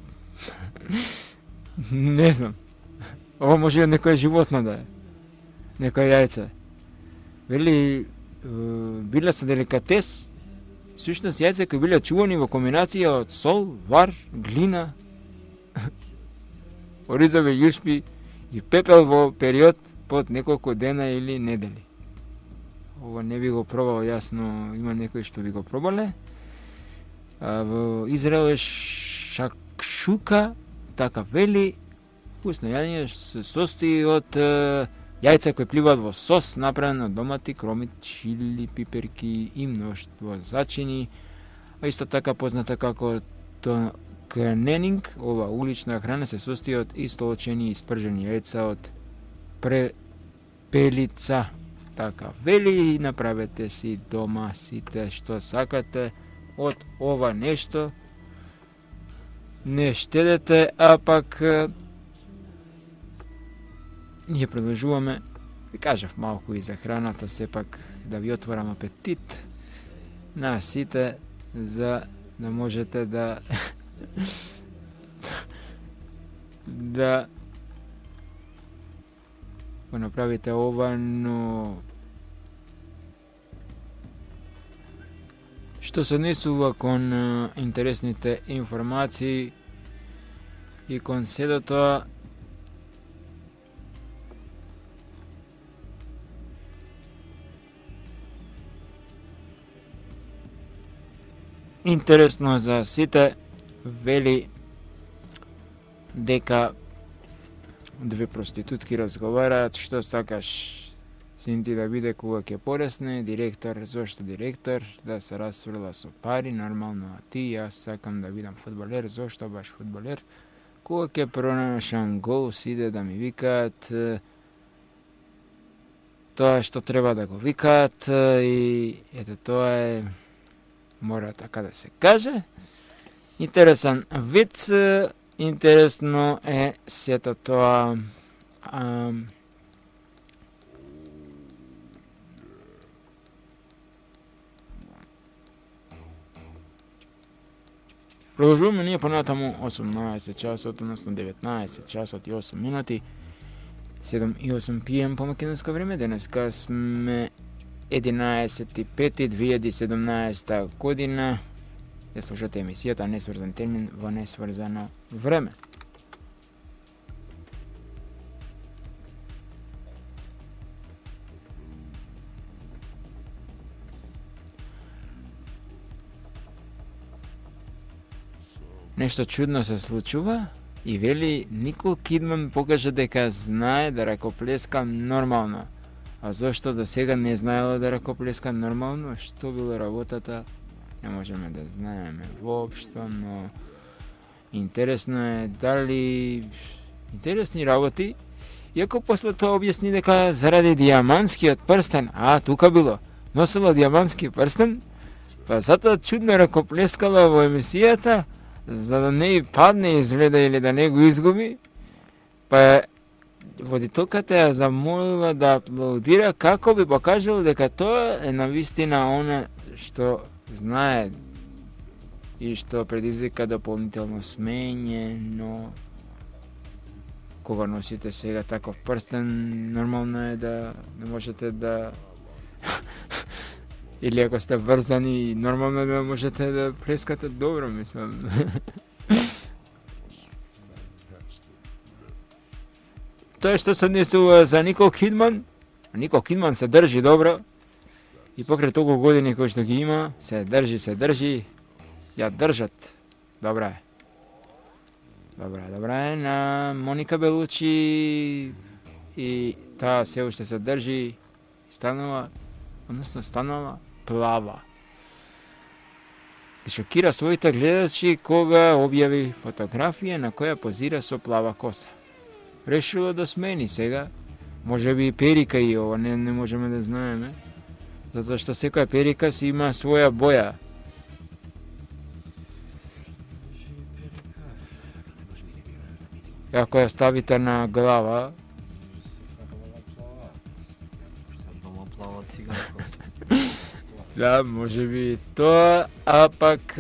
не знам. Ова може и од некој животно да е. Некој јајце. Вели, биле со деликатес, сушност јајца кои биле чувани во комбинација од сол, вар, глина, оризови јушпи и пепел во период под неколку дена или недели. Ова не би го пробал јас, но има некои што би го пробале. А, во Израел е шакшука, така вели, вкусно јадење се состои од е, јајца кои пливаат во сос, направен од домати, кромит, чили, пиперки и мноштво зачини, а исто така позната како кненинг. Ова улична храна се состои од истолчени и спржени јајца од препелица. Така вели, направете си дома сите што сакате од ова нешто. Не штедете, а пак ние продолжуваме. Ви кажав малку и за храната, сепак да ви отворам апетит на сите, за да можете да да го направите ова, но што се однесува кон а, интересните информации и кон седо тоа, интересно за сите, вели дека две проститутки разговараат што сакаш син ти да биде кога ќе порасне, директор, зошто директор, да се расфрла со пари, нормално, а ти, јас сакам да бидам фудбалер, зошто баш фудбалер, кога ќе пронашам гол, сиде да ми викаат тоа што треба да го викаат и ете тоа е, мора така да се каже. Интересен виц, интересно е сето тоа. Ам, Продолжуваме ние понатаму осумнаесет часот, односно деветнаесет часот и осум минути, седум и осум пи ем по македонско време. Денеска сме единаесети пети две илјади и седумнаесета година. Ја слушате емисијата Несврзан термин во несврзано време. Нешто чудно се случува и вели Никол Кидман покажа дека знае да ракоплеска нормално. А зошто до сега не знаела да ракоплеска нормално? Што било работата? Не можеме да знаеме воопшто, но интересно е дали интересни работи. Иако после тоа објасни дека заради дијаманскиот прстен, а тука било, носила дијамански прстен, па затоа чудно ракоплескала во емисијата, за да не и падне изгледа или да не го изгуби, па водителката ја замолила да аплаудира како би покажало дека тоа е навистина она што знае и што предизвика дополнително смење, но кога носите сега таков прстен, нормално е да не можете да или ако сте врзани, нормално е да можете да плескате добро, мислам. Тоа што се однесува за Никол Кидман. Никол Кидман се држи добро и покрај толку години кои што ги има, се држи, се држи, ја држат. Добра е. Добра е, добра е. На Моника Белучи и таа се уште се држи, станува, односно станала плава. Шокира своите гледачи кога објави фотографија на која позира со плава коса. Решила да смени сега, може би перика и ова, не, не можеме да знаеме, затоа што секоја перика си има своја боја. Ако ја ставите на глава, да, може би тоа, а пак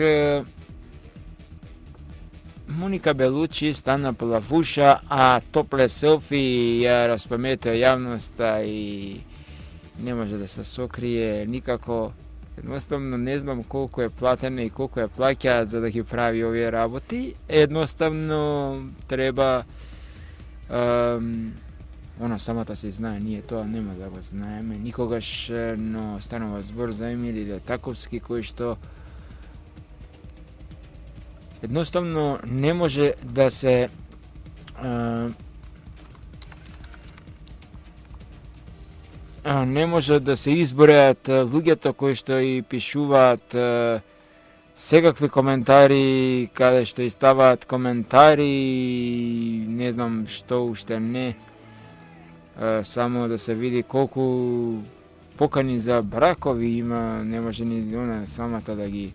Моника Белучи стана плавуша, а топле селфи ја распаметува јавноста и не може да се сокрие никако. Едноставно не знам колку е платена и колку е плаќаат за да ги прави овие работи. Едноставно треба ем, она самата се знае, ние тоа нема да го знаеме никогаш, но станува збор за Емили Летаковски кој што едноставно не може да се а, а, не може да се избореат луѓето кои што и пишуваат а, секакви коментари, каде што и ставаат коментари, не знам што уште не, а, само да се види колку покани за бракови има, не може ни она самата да ги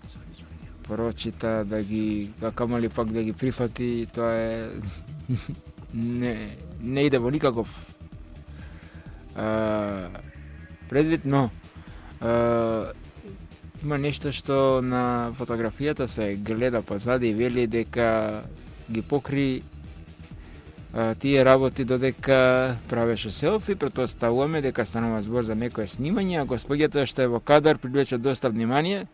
прочита, да ги, камали пак да ги прифати, тоа е не, не иде во никаков а, предвид, но а, има нешто што на фотографијата се гледа позади и вели дека ги покри а, тие работи додека правеше селфи, претпоставуваме дека станува збор за некое снимање, а господјата што е во кадар привлече доста внимание.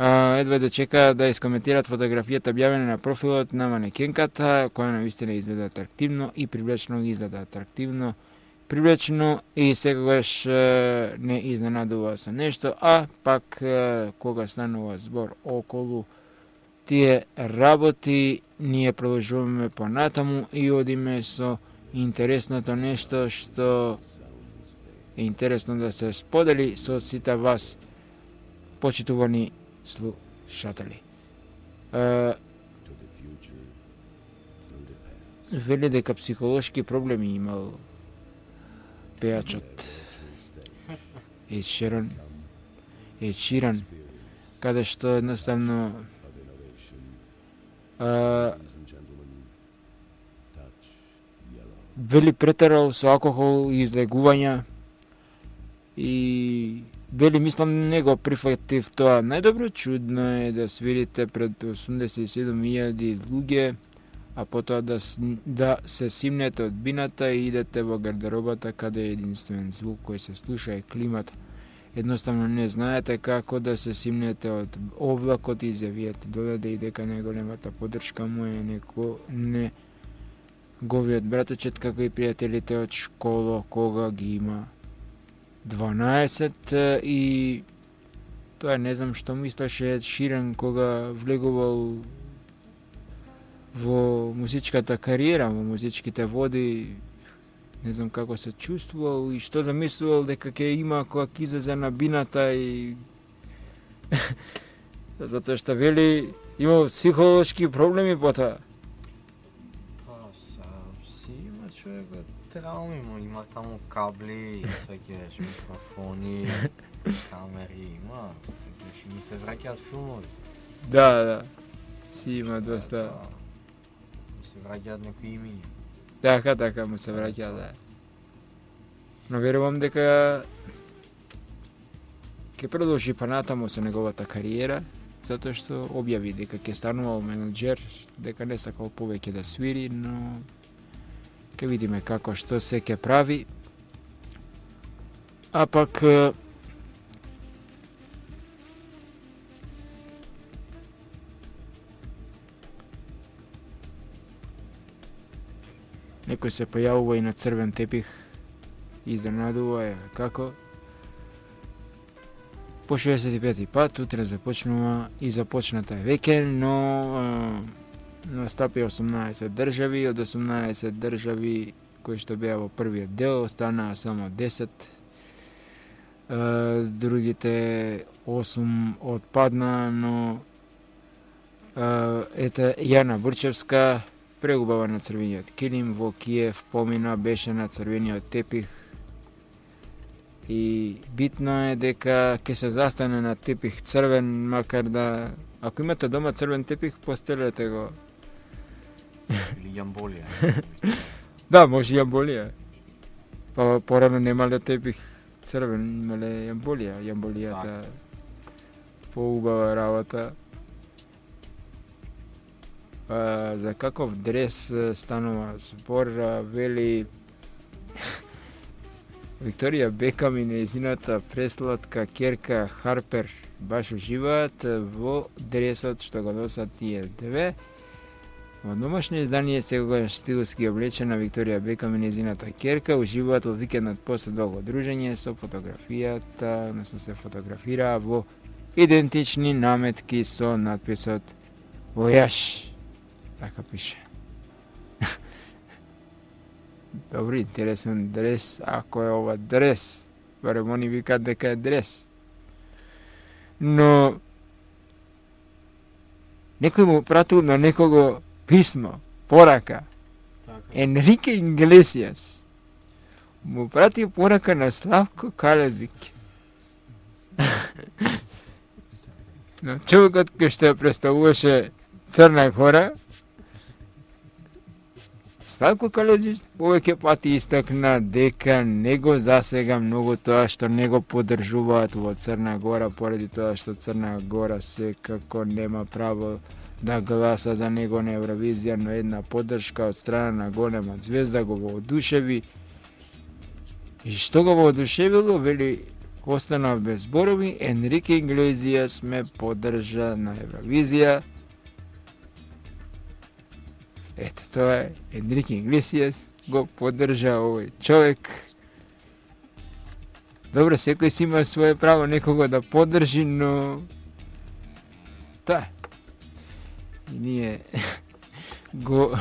А, едва да чека да искоментираат фотографијата објавена на профилот на манекенката, која навистина изгледа атрактивно и привлечно, изгледа атрактивно, привлечно и секогаш е, не изненадува со нешто, а пак е, кога станува збор околу тие работи, ние продолжуваме понатаму и одиме со интересното нешто што е интересно да се сподели со сите вас, почитувани слушатели. Uh, вели дека психолошки проблеми имал пејачот Ед Ширан, Ед Ширан, каде што едноставно uh, вели претерал со алкохол и излегувања и вели, мислам, не го прифатив тоа. Најдобро чудно е да свирите пред осумдесет и седум илјади луѓе, а потоа да, да се симнете од бината и идете во гардеробата каде е единствен звук кој се слуша е климата. Едноставно не знаете како да се симнете од облакот и изјавиете додаде и дека најголемата поддршка му е неко не говиот браточет, како и пријателите од школа, кога ги има дванаесет и тоа не знам што мислеше Ед Ширан кога влегувал во музичката кариера, во музичките води, не знам како се чувствувал и што замислувал дека ќе има кога ќе излезе на бината и затоа што вели имал психолошки проблеми потоа. Па, си има човекот трауми, има таму кабли, свеќаш микрофони, камери, има, свеќаш ми се враќаат филмови. Да, да, си има доста. Ми се враќаат некои имиња. Така, така, му се враќа, да. Но верувам дека ќе продолжи понатаму со неговата кариера, затоа што објави дека ќе станувал менаџер, дека не сакал повеќе да свири, но ќе видиме како што се ќе прави. А пак некој се појавува и на црвен тепих и изненадува е како. По шеесет и пети пат, утре започнува и започната е веќе, но а, настапи осумнаесет држави, од осумнаесет држави кои што беа во првиот дел, останаа само десет. А, другите осум отпадна, но а, ете Јана Бурчевска преубава на црвениот килим во Киев, помина, беше на црвениот тепих и битно е дека ќе се застане на тепих црвен, макар да ако имате дома црвен тепих, постелете го. Или јамболија. Да, може јамболија. Па порано немале тепих црвен, имале јамболија. Јамболијата поубава работа. А, за каков дрес станува збор, вели Викторија Бекам и нејзината пресладка ќерка Харпер баш уживаат во дресот што го носат тие две. Во домашно издание секогаш стилски облечена Викторија Бекам и нејзината ќерка уживаат во викендот после долго дружење со фотографијата, односно се фотографира во идентични наметки со надписот Војаш. Така пише. Добри, интересен дрес, ако е ова дрес. Барем они викаат дека е дрес. Но некој му пратил на некого писмо, порака. Така. Енрике Иглесијас му прати порака на Славко Калезик. Но човекот кој што ја представуваше Црна Гора, Славко Калезик повеќе пати истакна дека него засега многу тоа што него поддржуваат во Црна Гора, поради тоа што Црна Гора секако нема право да гласа за него на Евровизија, но една поддршка од страна на голема звезда го воодушеви. И што го воодушевило, вели, останав без зборови, Енрике Иглезијас ме поддржа на Евровизија. Ето, тоа е, Енрике Иглесијас го поддржа овој човек. Добро, секој си има свое право некого да поддржи, но та и ние го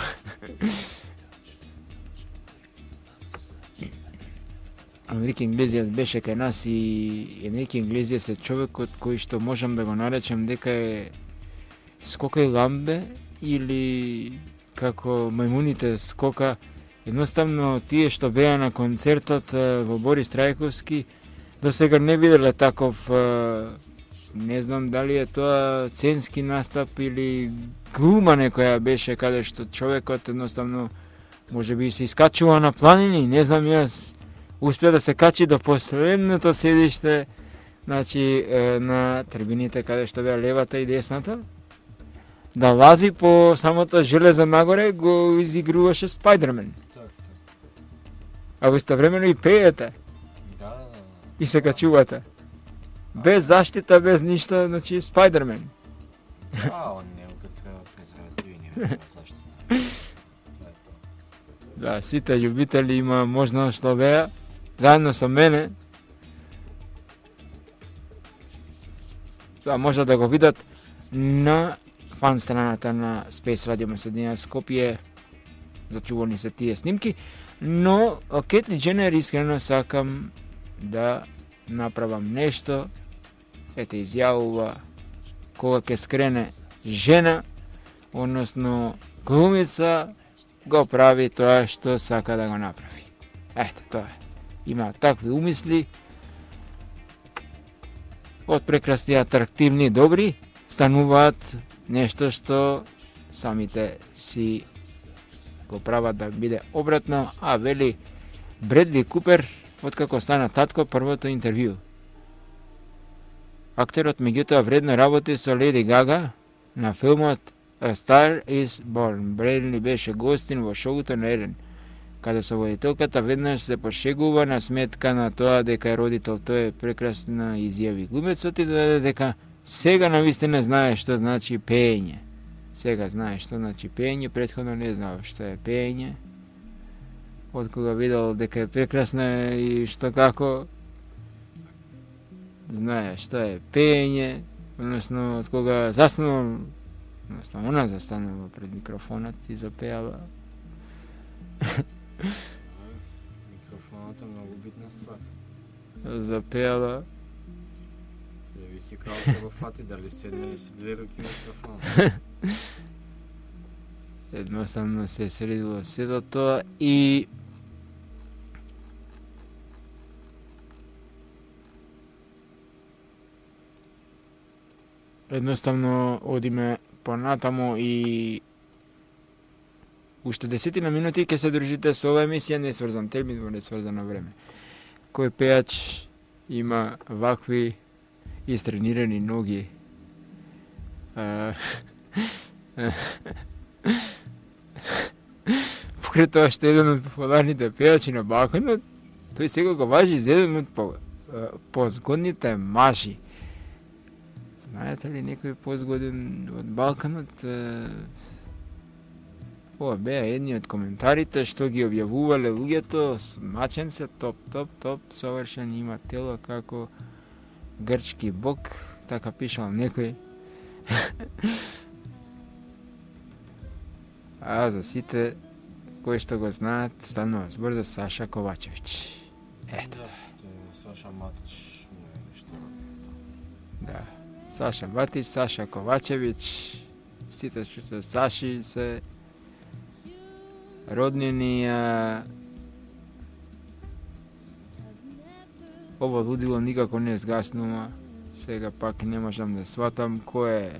Енрике Иглезијас беше кај нас и Енрике Иглезијас е човекот кој што можам да го наречем дека е скока и ламбе или како мајмуните скока. Едноставно тие што беа на концертот во Борис Трајковски до сега не виделе таков, не знам дали е тоа сценски настап или глума некоја беше каде што човекот едноставно можеби се искачува на планини, не знам јас, успеа да се качи до последното седиште, значи на трибините каде што беа левата и десната, да лази по самото железо нагоре, го изигруваше Спајдермен. А во истовремено и пеете. Да, да, да. И се качувате. Без заштита, без ништо, значи Спајдермен. А, он не употреба презервативи, не употреба заштита. Тоа е тоа. Да, сите љубители има можност да беа заедно со мене. Тоа може да го видат на фан страната на Space Radio Macedоnia Скопје. Зачувани се тие снимки. Но, Кетли Дженер искрено сакам да направам нешто. Ете, изјавува кога ќе скрене жена, односно глумица, го прави тоа што сака да го направи. Ете, тоа е. Има такви умисли. Од прекрасни, атрактивни, добри, стануваат нешто што самите си го прават да биде обратно, а вели Бредли Купер, откако стана татко, првото интервју. Актерот меѓутоа вредно работи со Леди Гага на филмот A Star is Born. Бредли беше гостин во шоуто на Елен, каде со водителката веднаш се пошегува на сметка на тоа дека е родител. Тоа е прекрасна изјави. Глумецот и додаде дека сега навистина знае што значи пеење. Сега знае што значи пеење, претходно не знao што е пеење. Од кога видел дека е прекрасна и што како, знае што е пеење, односно од кога застанал, односно она застанала пред микрофонот и запеала. Микрофонот е многу битна ствар. Запеала. Зависи како ќе го фати, дали седне или со две руки микрофон. Едноставно се средило сето тоа и едноставно одиме понатаму и уште десетина минути ќе се дружите со ова емисија Несврзан термин во несврзано време. Кој пејач има вакви истренирани ноги? Покрај тоа што еден од популарните пејачи на Балканот, тој сега го важи за еден од по, позгодните мажи. Знаете ли некој позгоден од Балканот? Ова беа едни од коментарите што ги објавувале луѓето, смачен се, топ, топ, топ, совршен, има тело како грчки бог, така пишал некој. А за сите кои што го знаат, станува збор за Саша Ковачевиќ. Ето тоа. Саша Матич, нешто. Да. Саша Матич, Саша Ковачевиќ, сите што Саши се роднини. Ова лудило никако не згаснува. Сега пак не можам да сватам кој е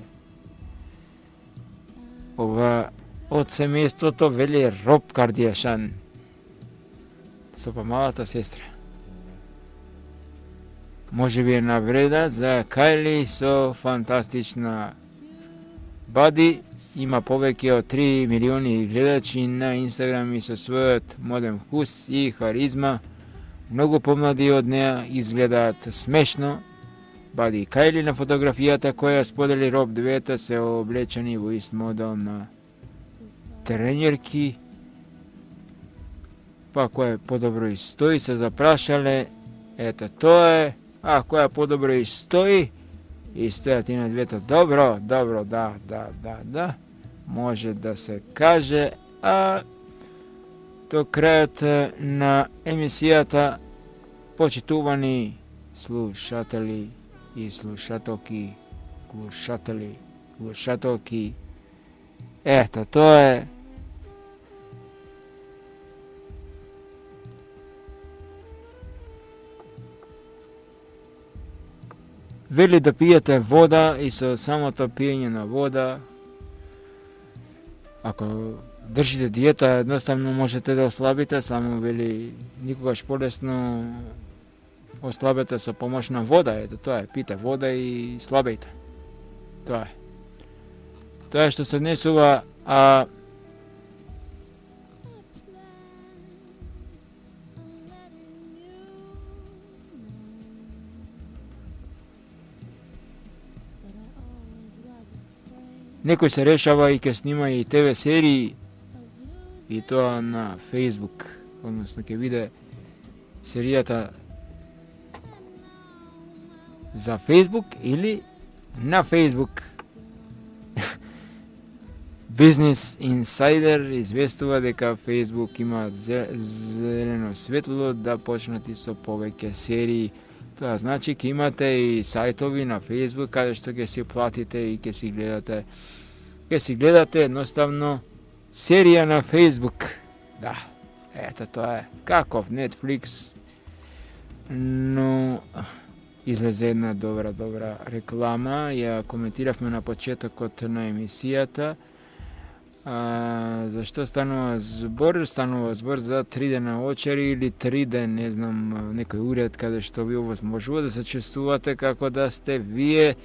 ова од семејството, вели Роб Кардиашан со помалата сестра. Може би е навреда за Кайли со фантастична Бади има повеќе од три милиони гледачи на Инстаграм и со својот моден вкус и харизма. Многу помлади од неа изгледаат смешно. Бади и Кајли на фотографијата која сподели Роб двете се облечени во ист модел на тренерки. Па која подобро и стои се запрашале. Ето тоа е. А која подобро и стои. И стојат и на двете. Добро, добро, да, да, да, да. Може да се каже. А до крајот на емисијата, почитувани слушатели и слушателки, глушатели, глушателки. Ето, тоа е. Вели да пиете вода и со самото пиење на вода, ако држите диета, едноставно можете да ослабите, само вели никогаш полесно ослабете со помош на вода. Ето тоа е, пите вода и слабејте. Тоа е. Тоа е што се однесува, а некој се решава и ќе снима и те ве серии и тоа на Facebook, односно ќе биде серијата за Facebook или на Facebook. Business Insider известува дека Facebook има зелено светло да почнати со повеќе серии. Тоа значи ќе имате и сајтови на Facebook каде што ќе си платите и ќе си гледате ќе си гледате едноставно серија на Facebook. Да, ето тоа е. Каков Netflix, но излезе една добра, добра реклама, ја коментиравме на почетокот на емисијата. А, зашто станува збор? Станува збор за три дена очери или три ден, не знам, некој уред каде што ви овозможува да се чувствувате како да сте вие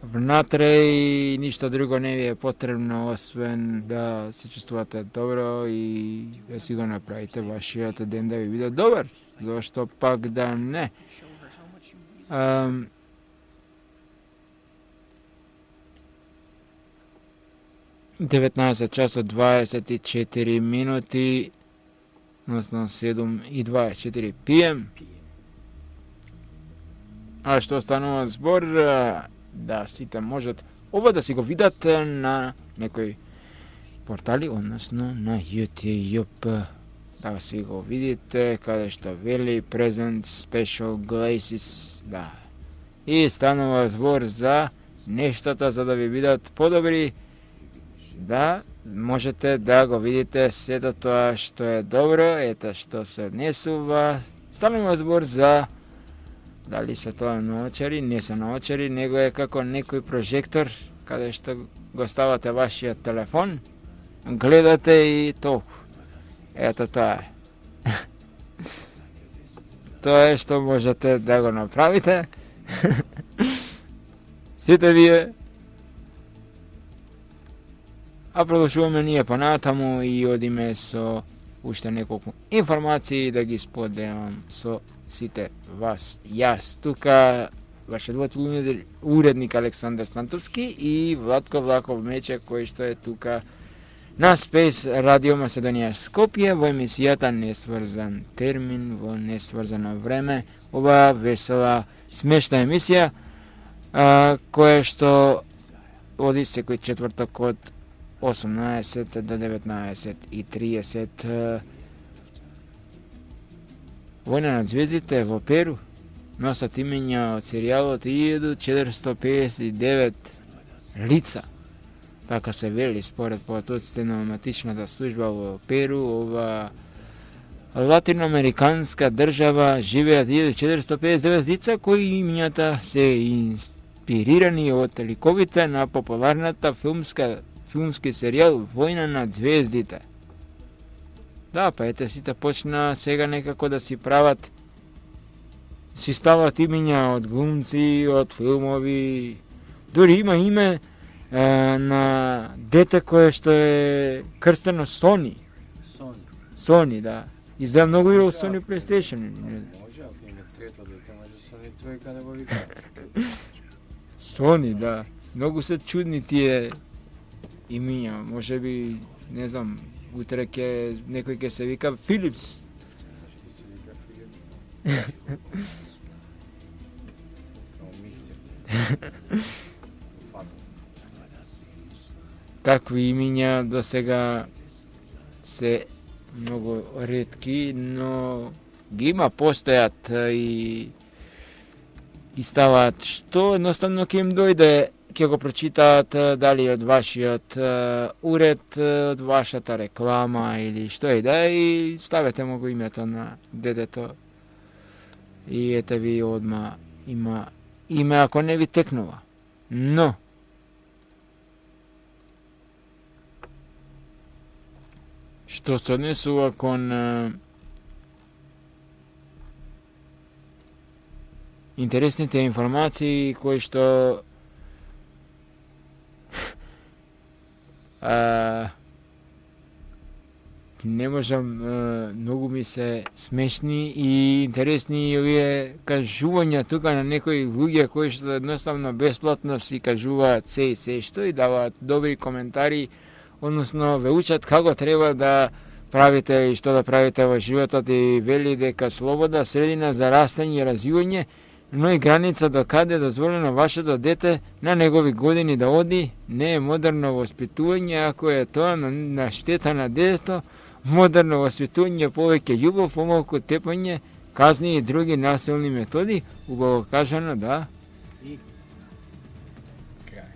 внатре и ништо друго не ви е потребно, освен да се чувствувате добро и да си го направите вашиот ден да ви биде добар. Зашто пак да не? Um, деветнаесет часот дваесет и четири минути, односно седум и дваесет и четири пи ем. А што станува збор, да сите можат ова да си го видат на некои портали, односно на YouTube. Да си го видите, каде што вели Present Special Glaces, да. И станува збор за нештата за да ви бидат подобри, да можете да го видите сето тоа што е добро, ето што се однесува. Станува збор за дали се тоа наочари, не се наочари, него е како некој прожектор, каде што го ставате вашиот телефон, гледате и толку. Ето тоа е. Тоа е што можете да го направите. Сите вие. А продолжуваме ние понатаму и одиме со уште неколку информации да ги споделам со сите вас. Јас тука, вашиот уредник Александар Стантовски и Владко Влахов Мече, кој што е тука на Space Radio Macedonија Скопје во емисијата Несврзан термин во несврзано време. Ова весела, смешна емисија, а, која што оди секој четврток од осумнаесет до деветнаесет и триесет. Војна над звездите во Перу носат имења од серијалот илјаду четиристотини педесет и девет лица. Така се вели според потоците на матичната служба во Перу. Ова латиноамериканска држава живеат илјаду четиристотини педесет и девет лица кои имењата се инспирирани од ликовите на популарната филмска филмски серијал Војна над звездите. Да, па ете сите почна сега некако да си прават, си стават имења од глумци, од филмови, дури има име е, на дете кое што е крстено Sony. Sony. Sony, да. Изгледа многу игра во Sony PlayStation. Може, ако има трето дете, може Sony тројка да го вика. Sony, да. Многу се чудни тие имиња. Може би, не знам, утре ќе некој ќе се вика Philips. Може се вика Philips. Као миксер. Фаза. Такви имиња до сега се многу ретки, но ги има, постојат и ги ставаат што едноставно ќе им дојде, ќе го прочитаат дали од вашиот уред, од вашата реклама или што и да, и ставете му го името на детето и ете ви одма има име ако не ви текнува. Но што се однесува кон а, интересните информации кои што а, не можам, а, многу ми се смешни и интересни овие кажувања тука на некои луѓе кои што едноставно бесплатно си кажуваат се и се што и даваат добри коментари, односно ве учат како треба да правите и што да правите во животот и вели дека слобода средина за растење и развивање, но и граница до каде дозволено вашето дете на негови години да оди, не е модерно воспитување ако е тоа на, на штета на детето, модерно воспитување повеќе љубов, помалку тепање, казни и други насилни методи, убаво кажано, да. И крај.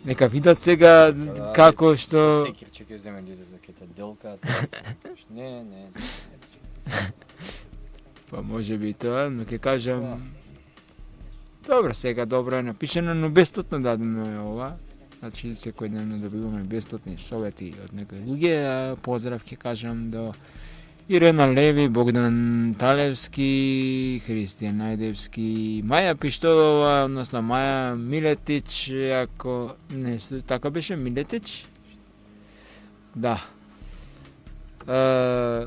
Нека видат сега Да, како што... Секир ќе ќе земе детето, ќе те делка. Не, не. Па може би тоа, но ќе кажам... Добро, сега добро е напишено, но бесплатно дадено е ова. Значи секој ден добиваме бесплатни совети од некои луѓе. Поздрав ќе кажам до Ирена Леви, Богдан Талевски, Христијан Најдевски, Маја Пиштолова, односно Маја Милетич, ако не се така беше Милетич? Да. Е,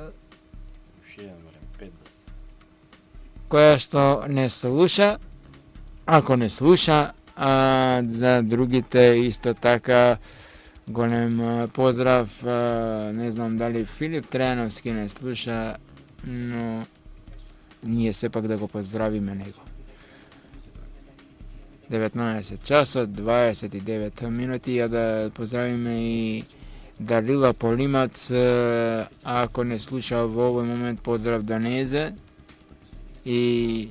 која што не слуша, ако не слуша, а за другите исто така голем поздрав, а, не знам дали Филип Трајановски не слуша, но ние сепак да го поздравиме него. деветнаесет часот, дваесет и девет минути, ја да поздравиме и Далила Полимац, а ако не слуша во овој момент, поздрав до незе. И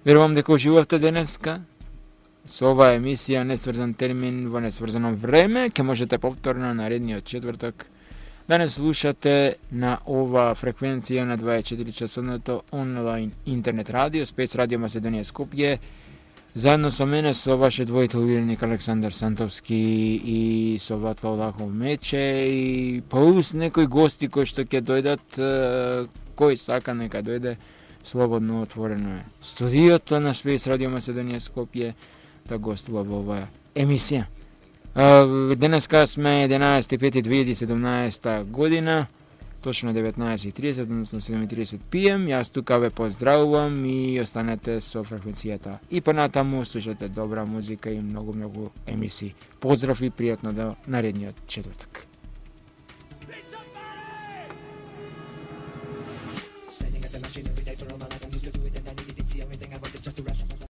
верувам дека уживавте денеска со оваа емисија Несврзан термин во несврзано време. Ке можете повторно наредниот четврток да не слушате на ова фреквенција на дваесет и четири часовното онлайн интернет радио Спец Радио Македонија Скопје. Заедно со мене, со вашиот воител увереник Александар Сантовски и со Владко Влахов Мече и плюс некои гости кои што ќе дојдат, кој сака нека дојде, слободно отворено е студиото на Спец Радио Македонија Скопје да гостува во оваа емисија. Денеска сме единаесети пети две илјади и седумнаесета година, точно деветнаесет и тридесет, односно седум и тридесет пи ем. Јас тука ве поздравувам и останете со фреквенцијата. И понатаму слушате добра музика и многу-многу емисии. Поздрав и пријатно до наредниот четвртак.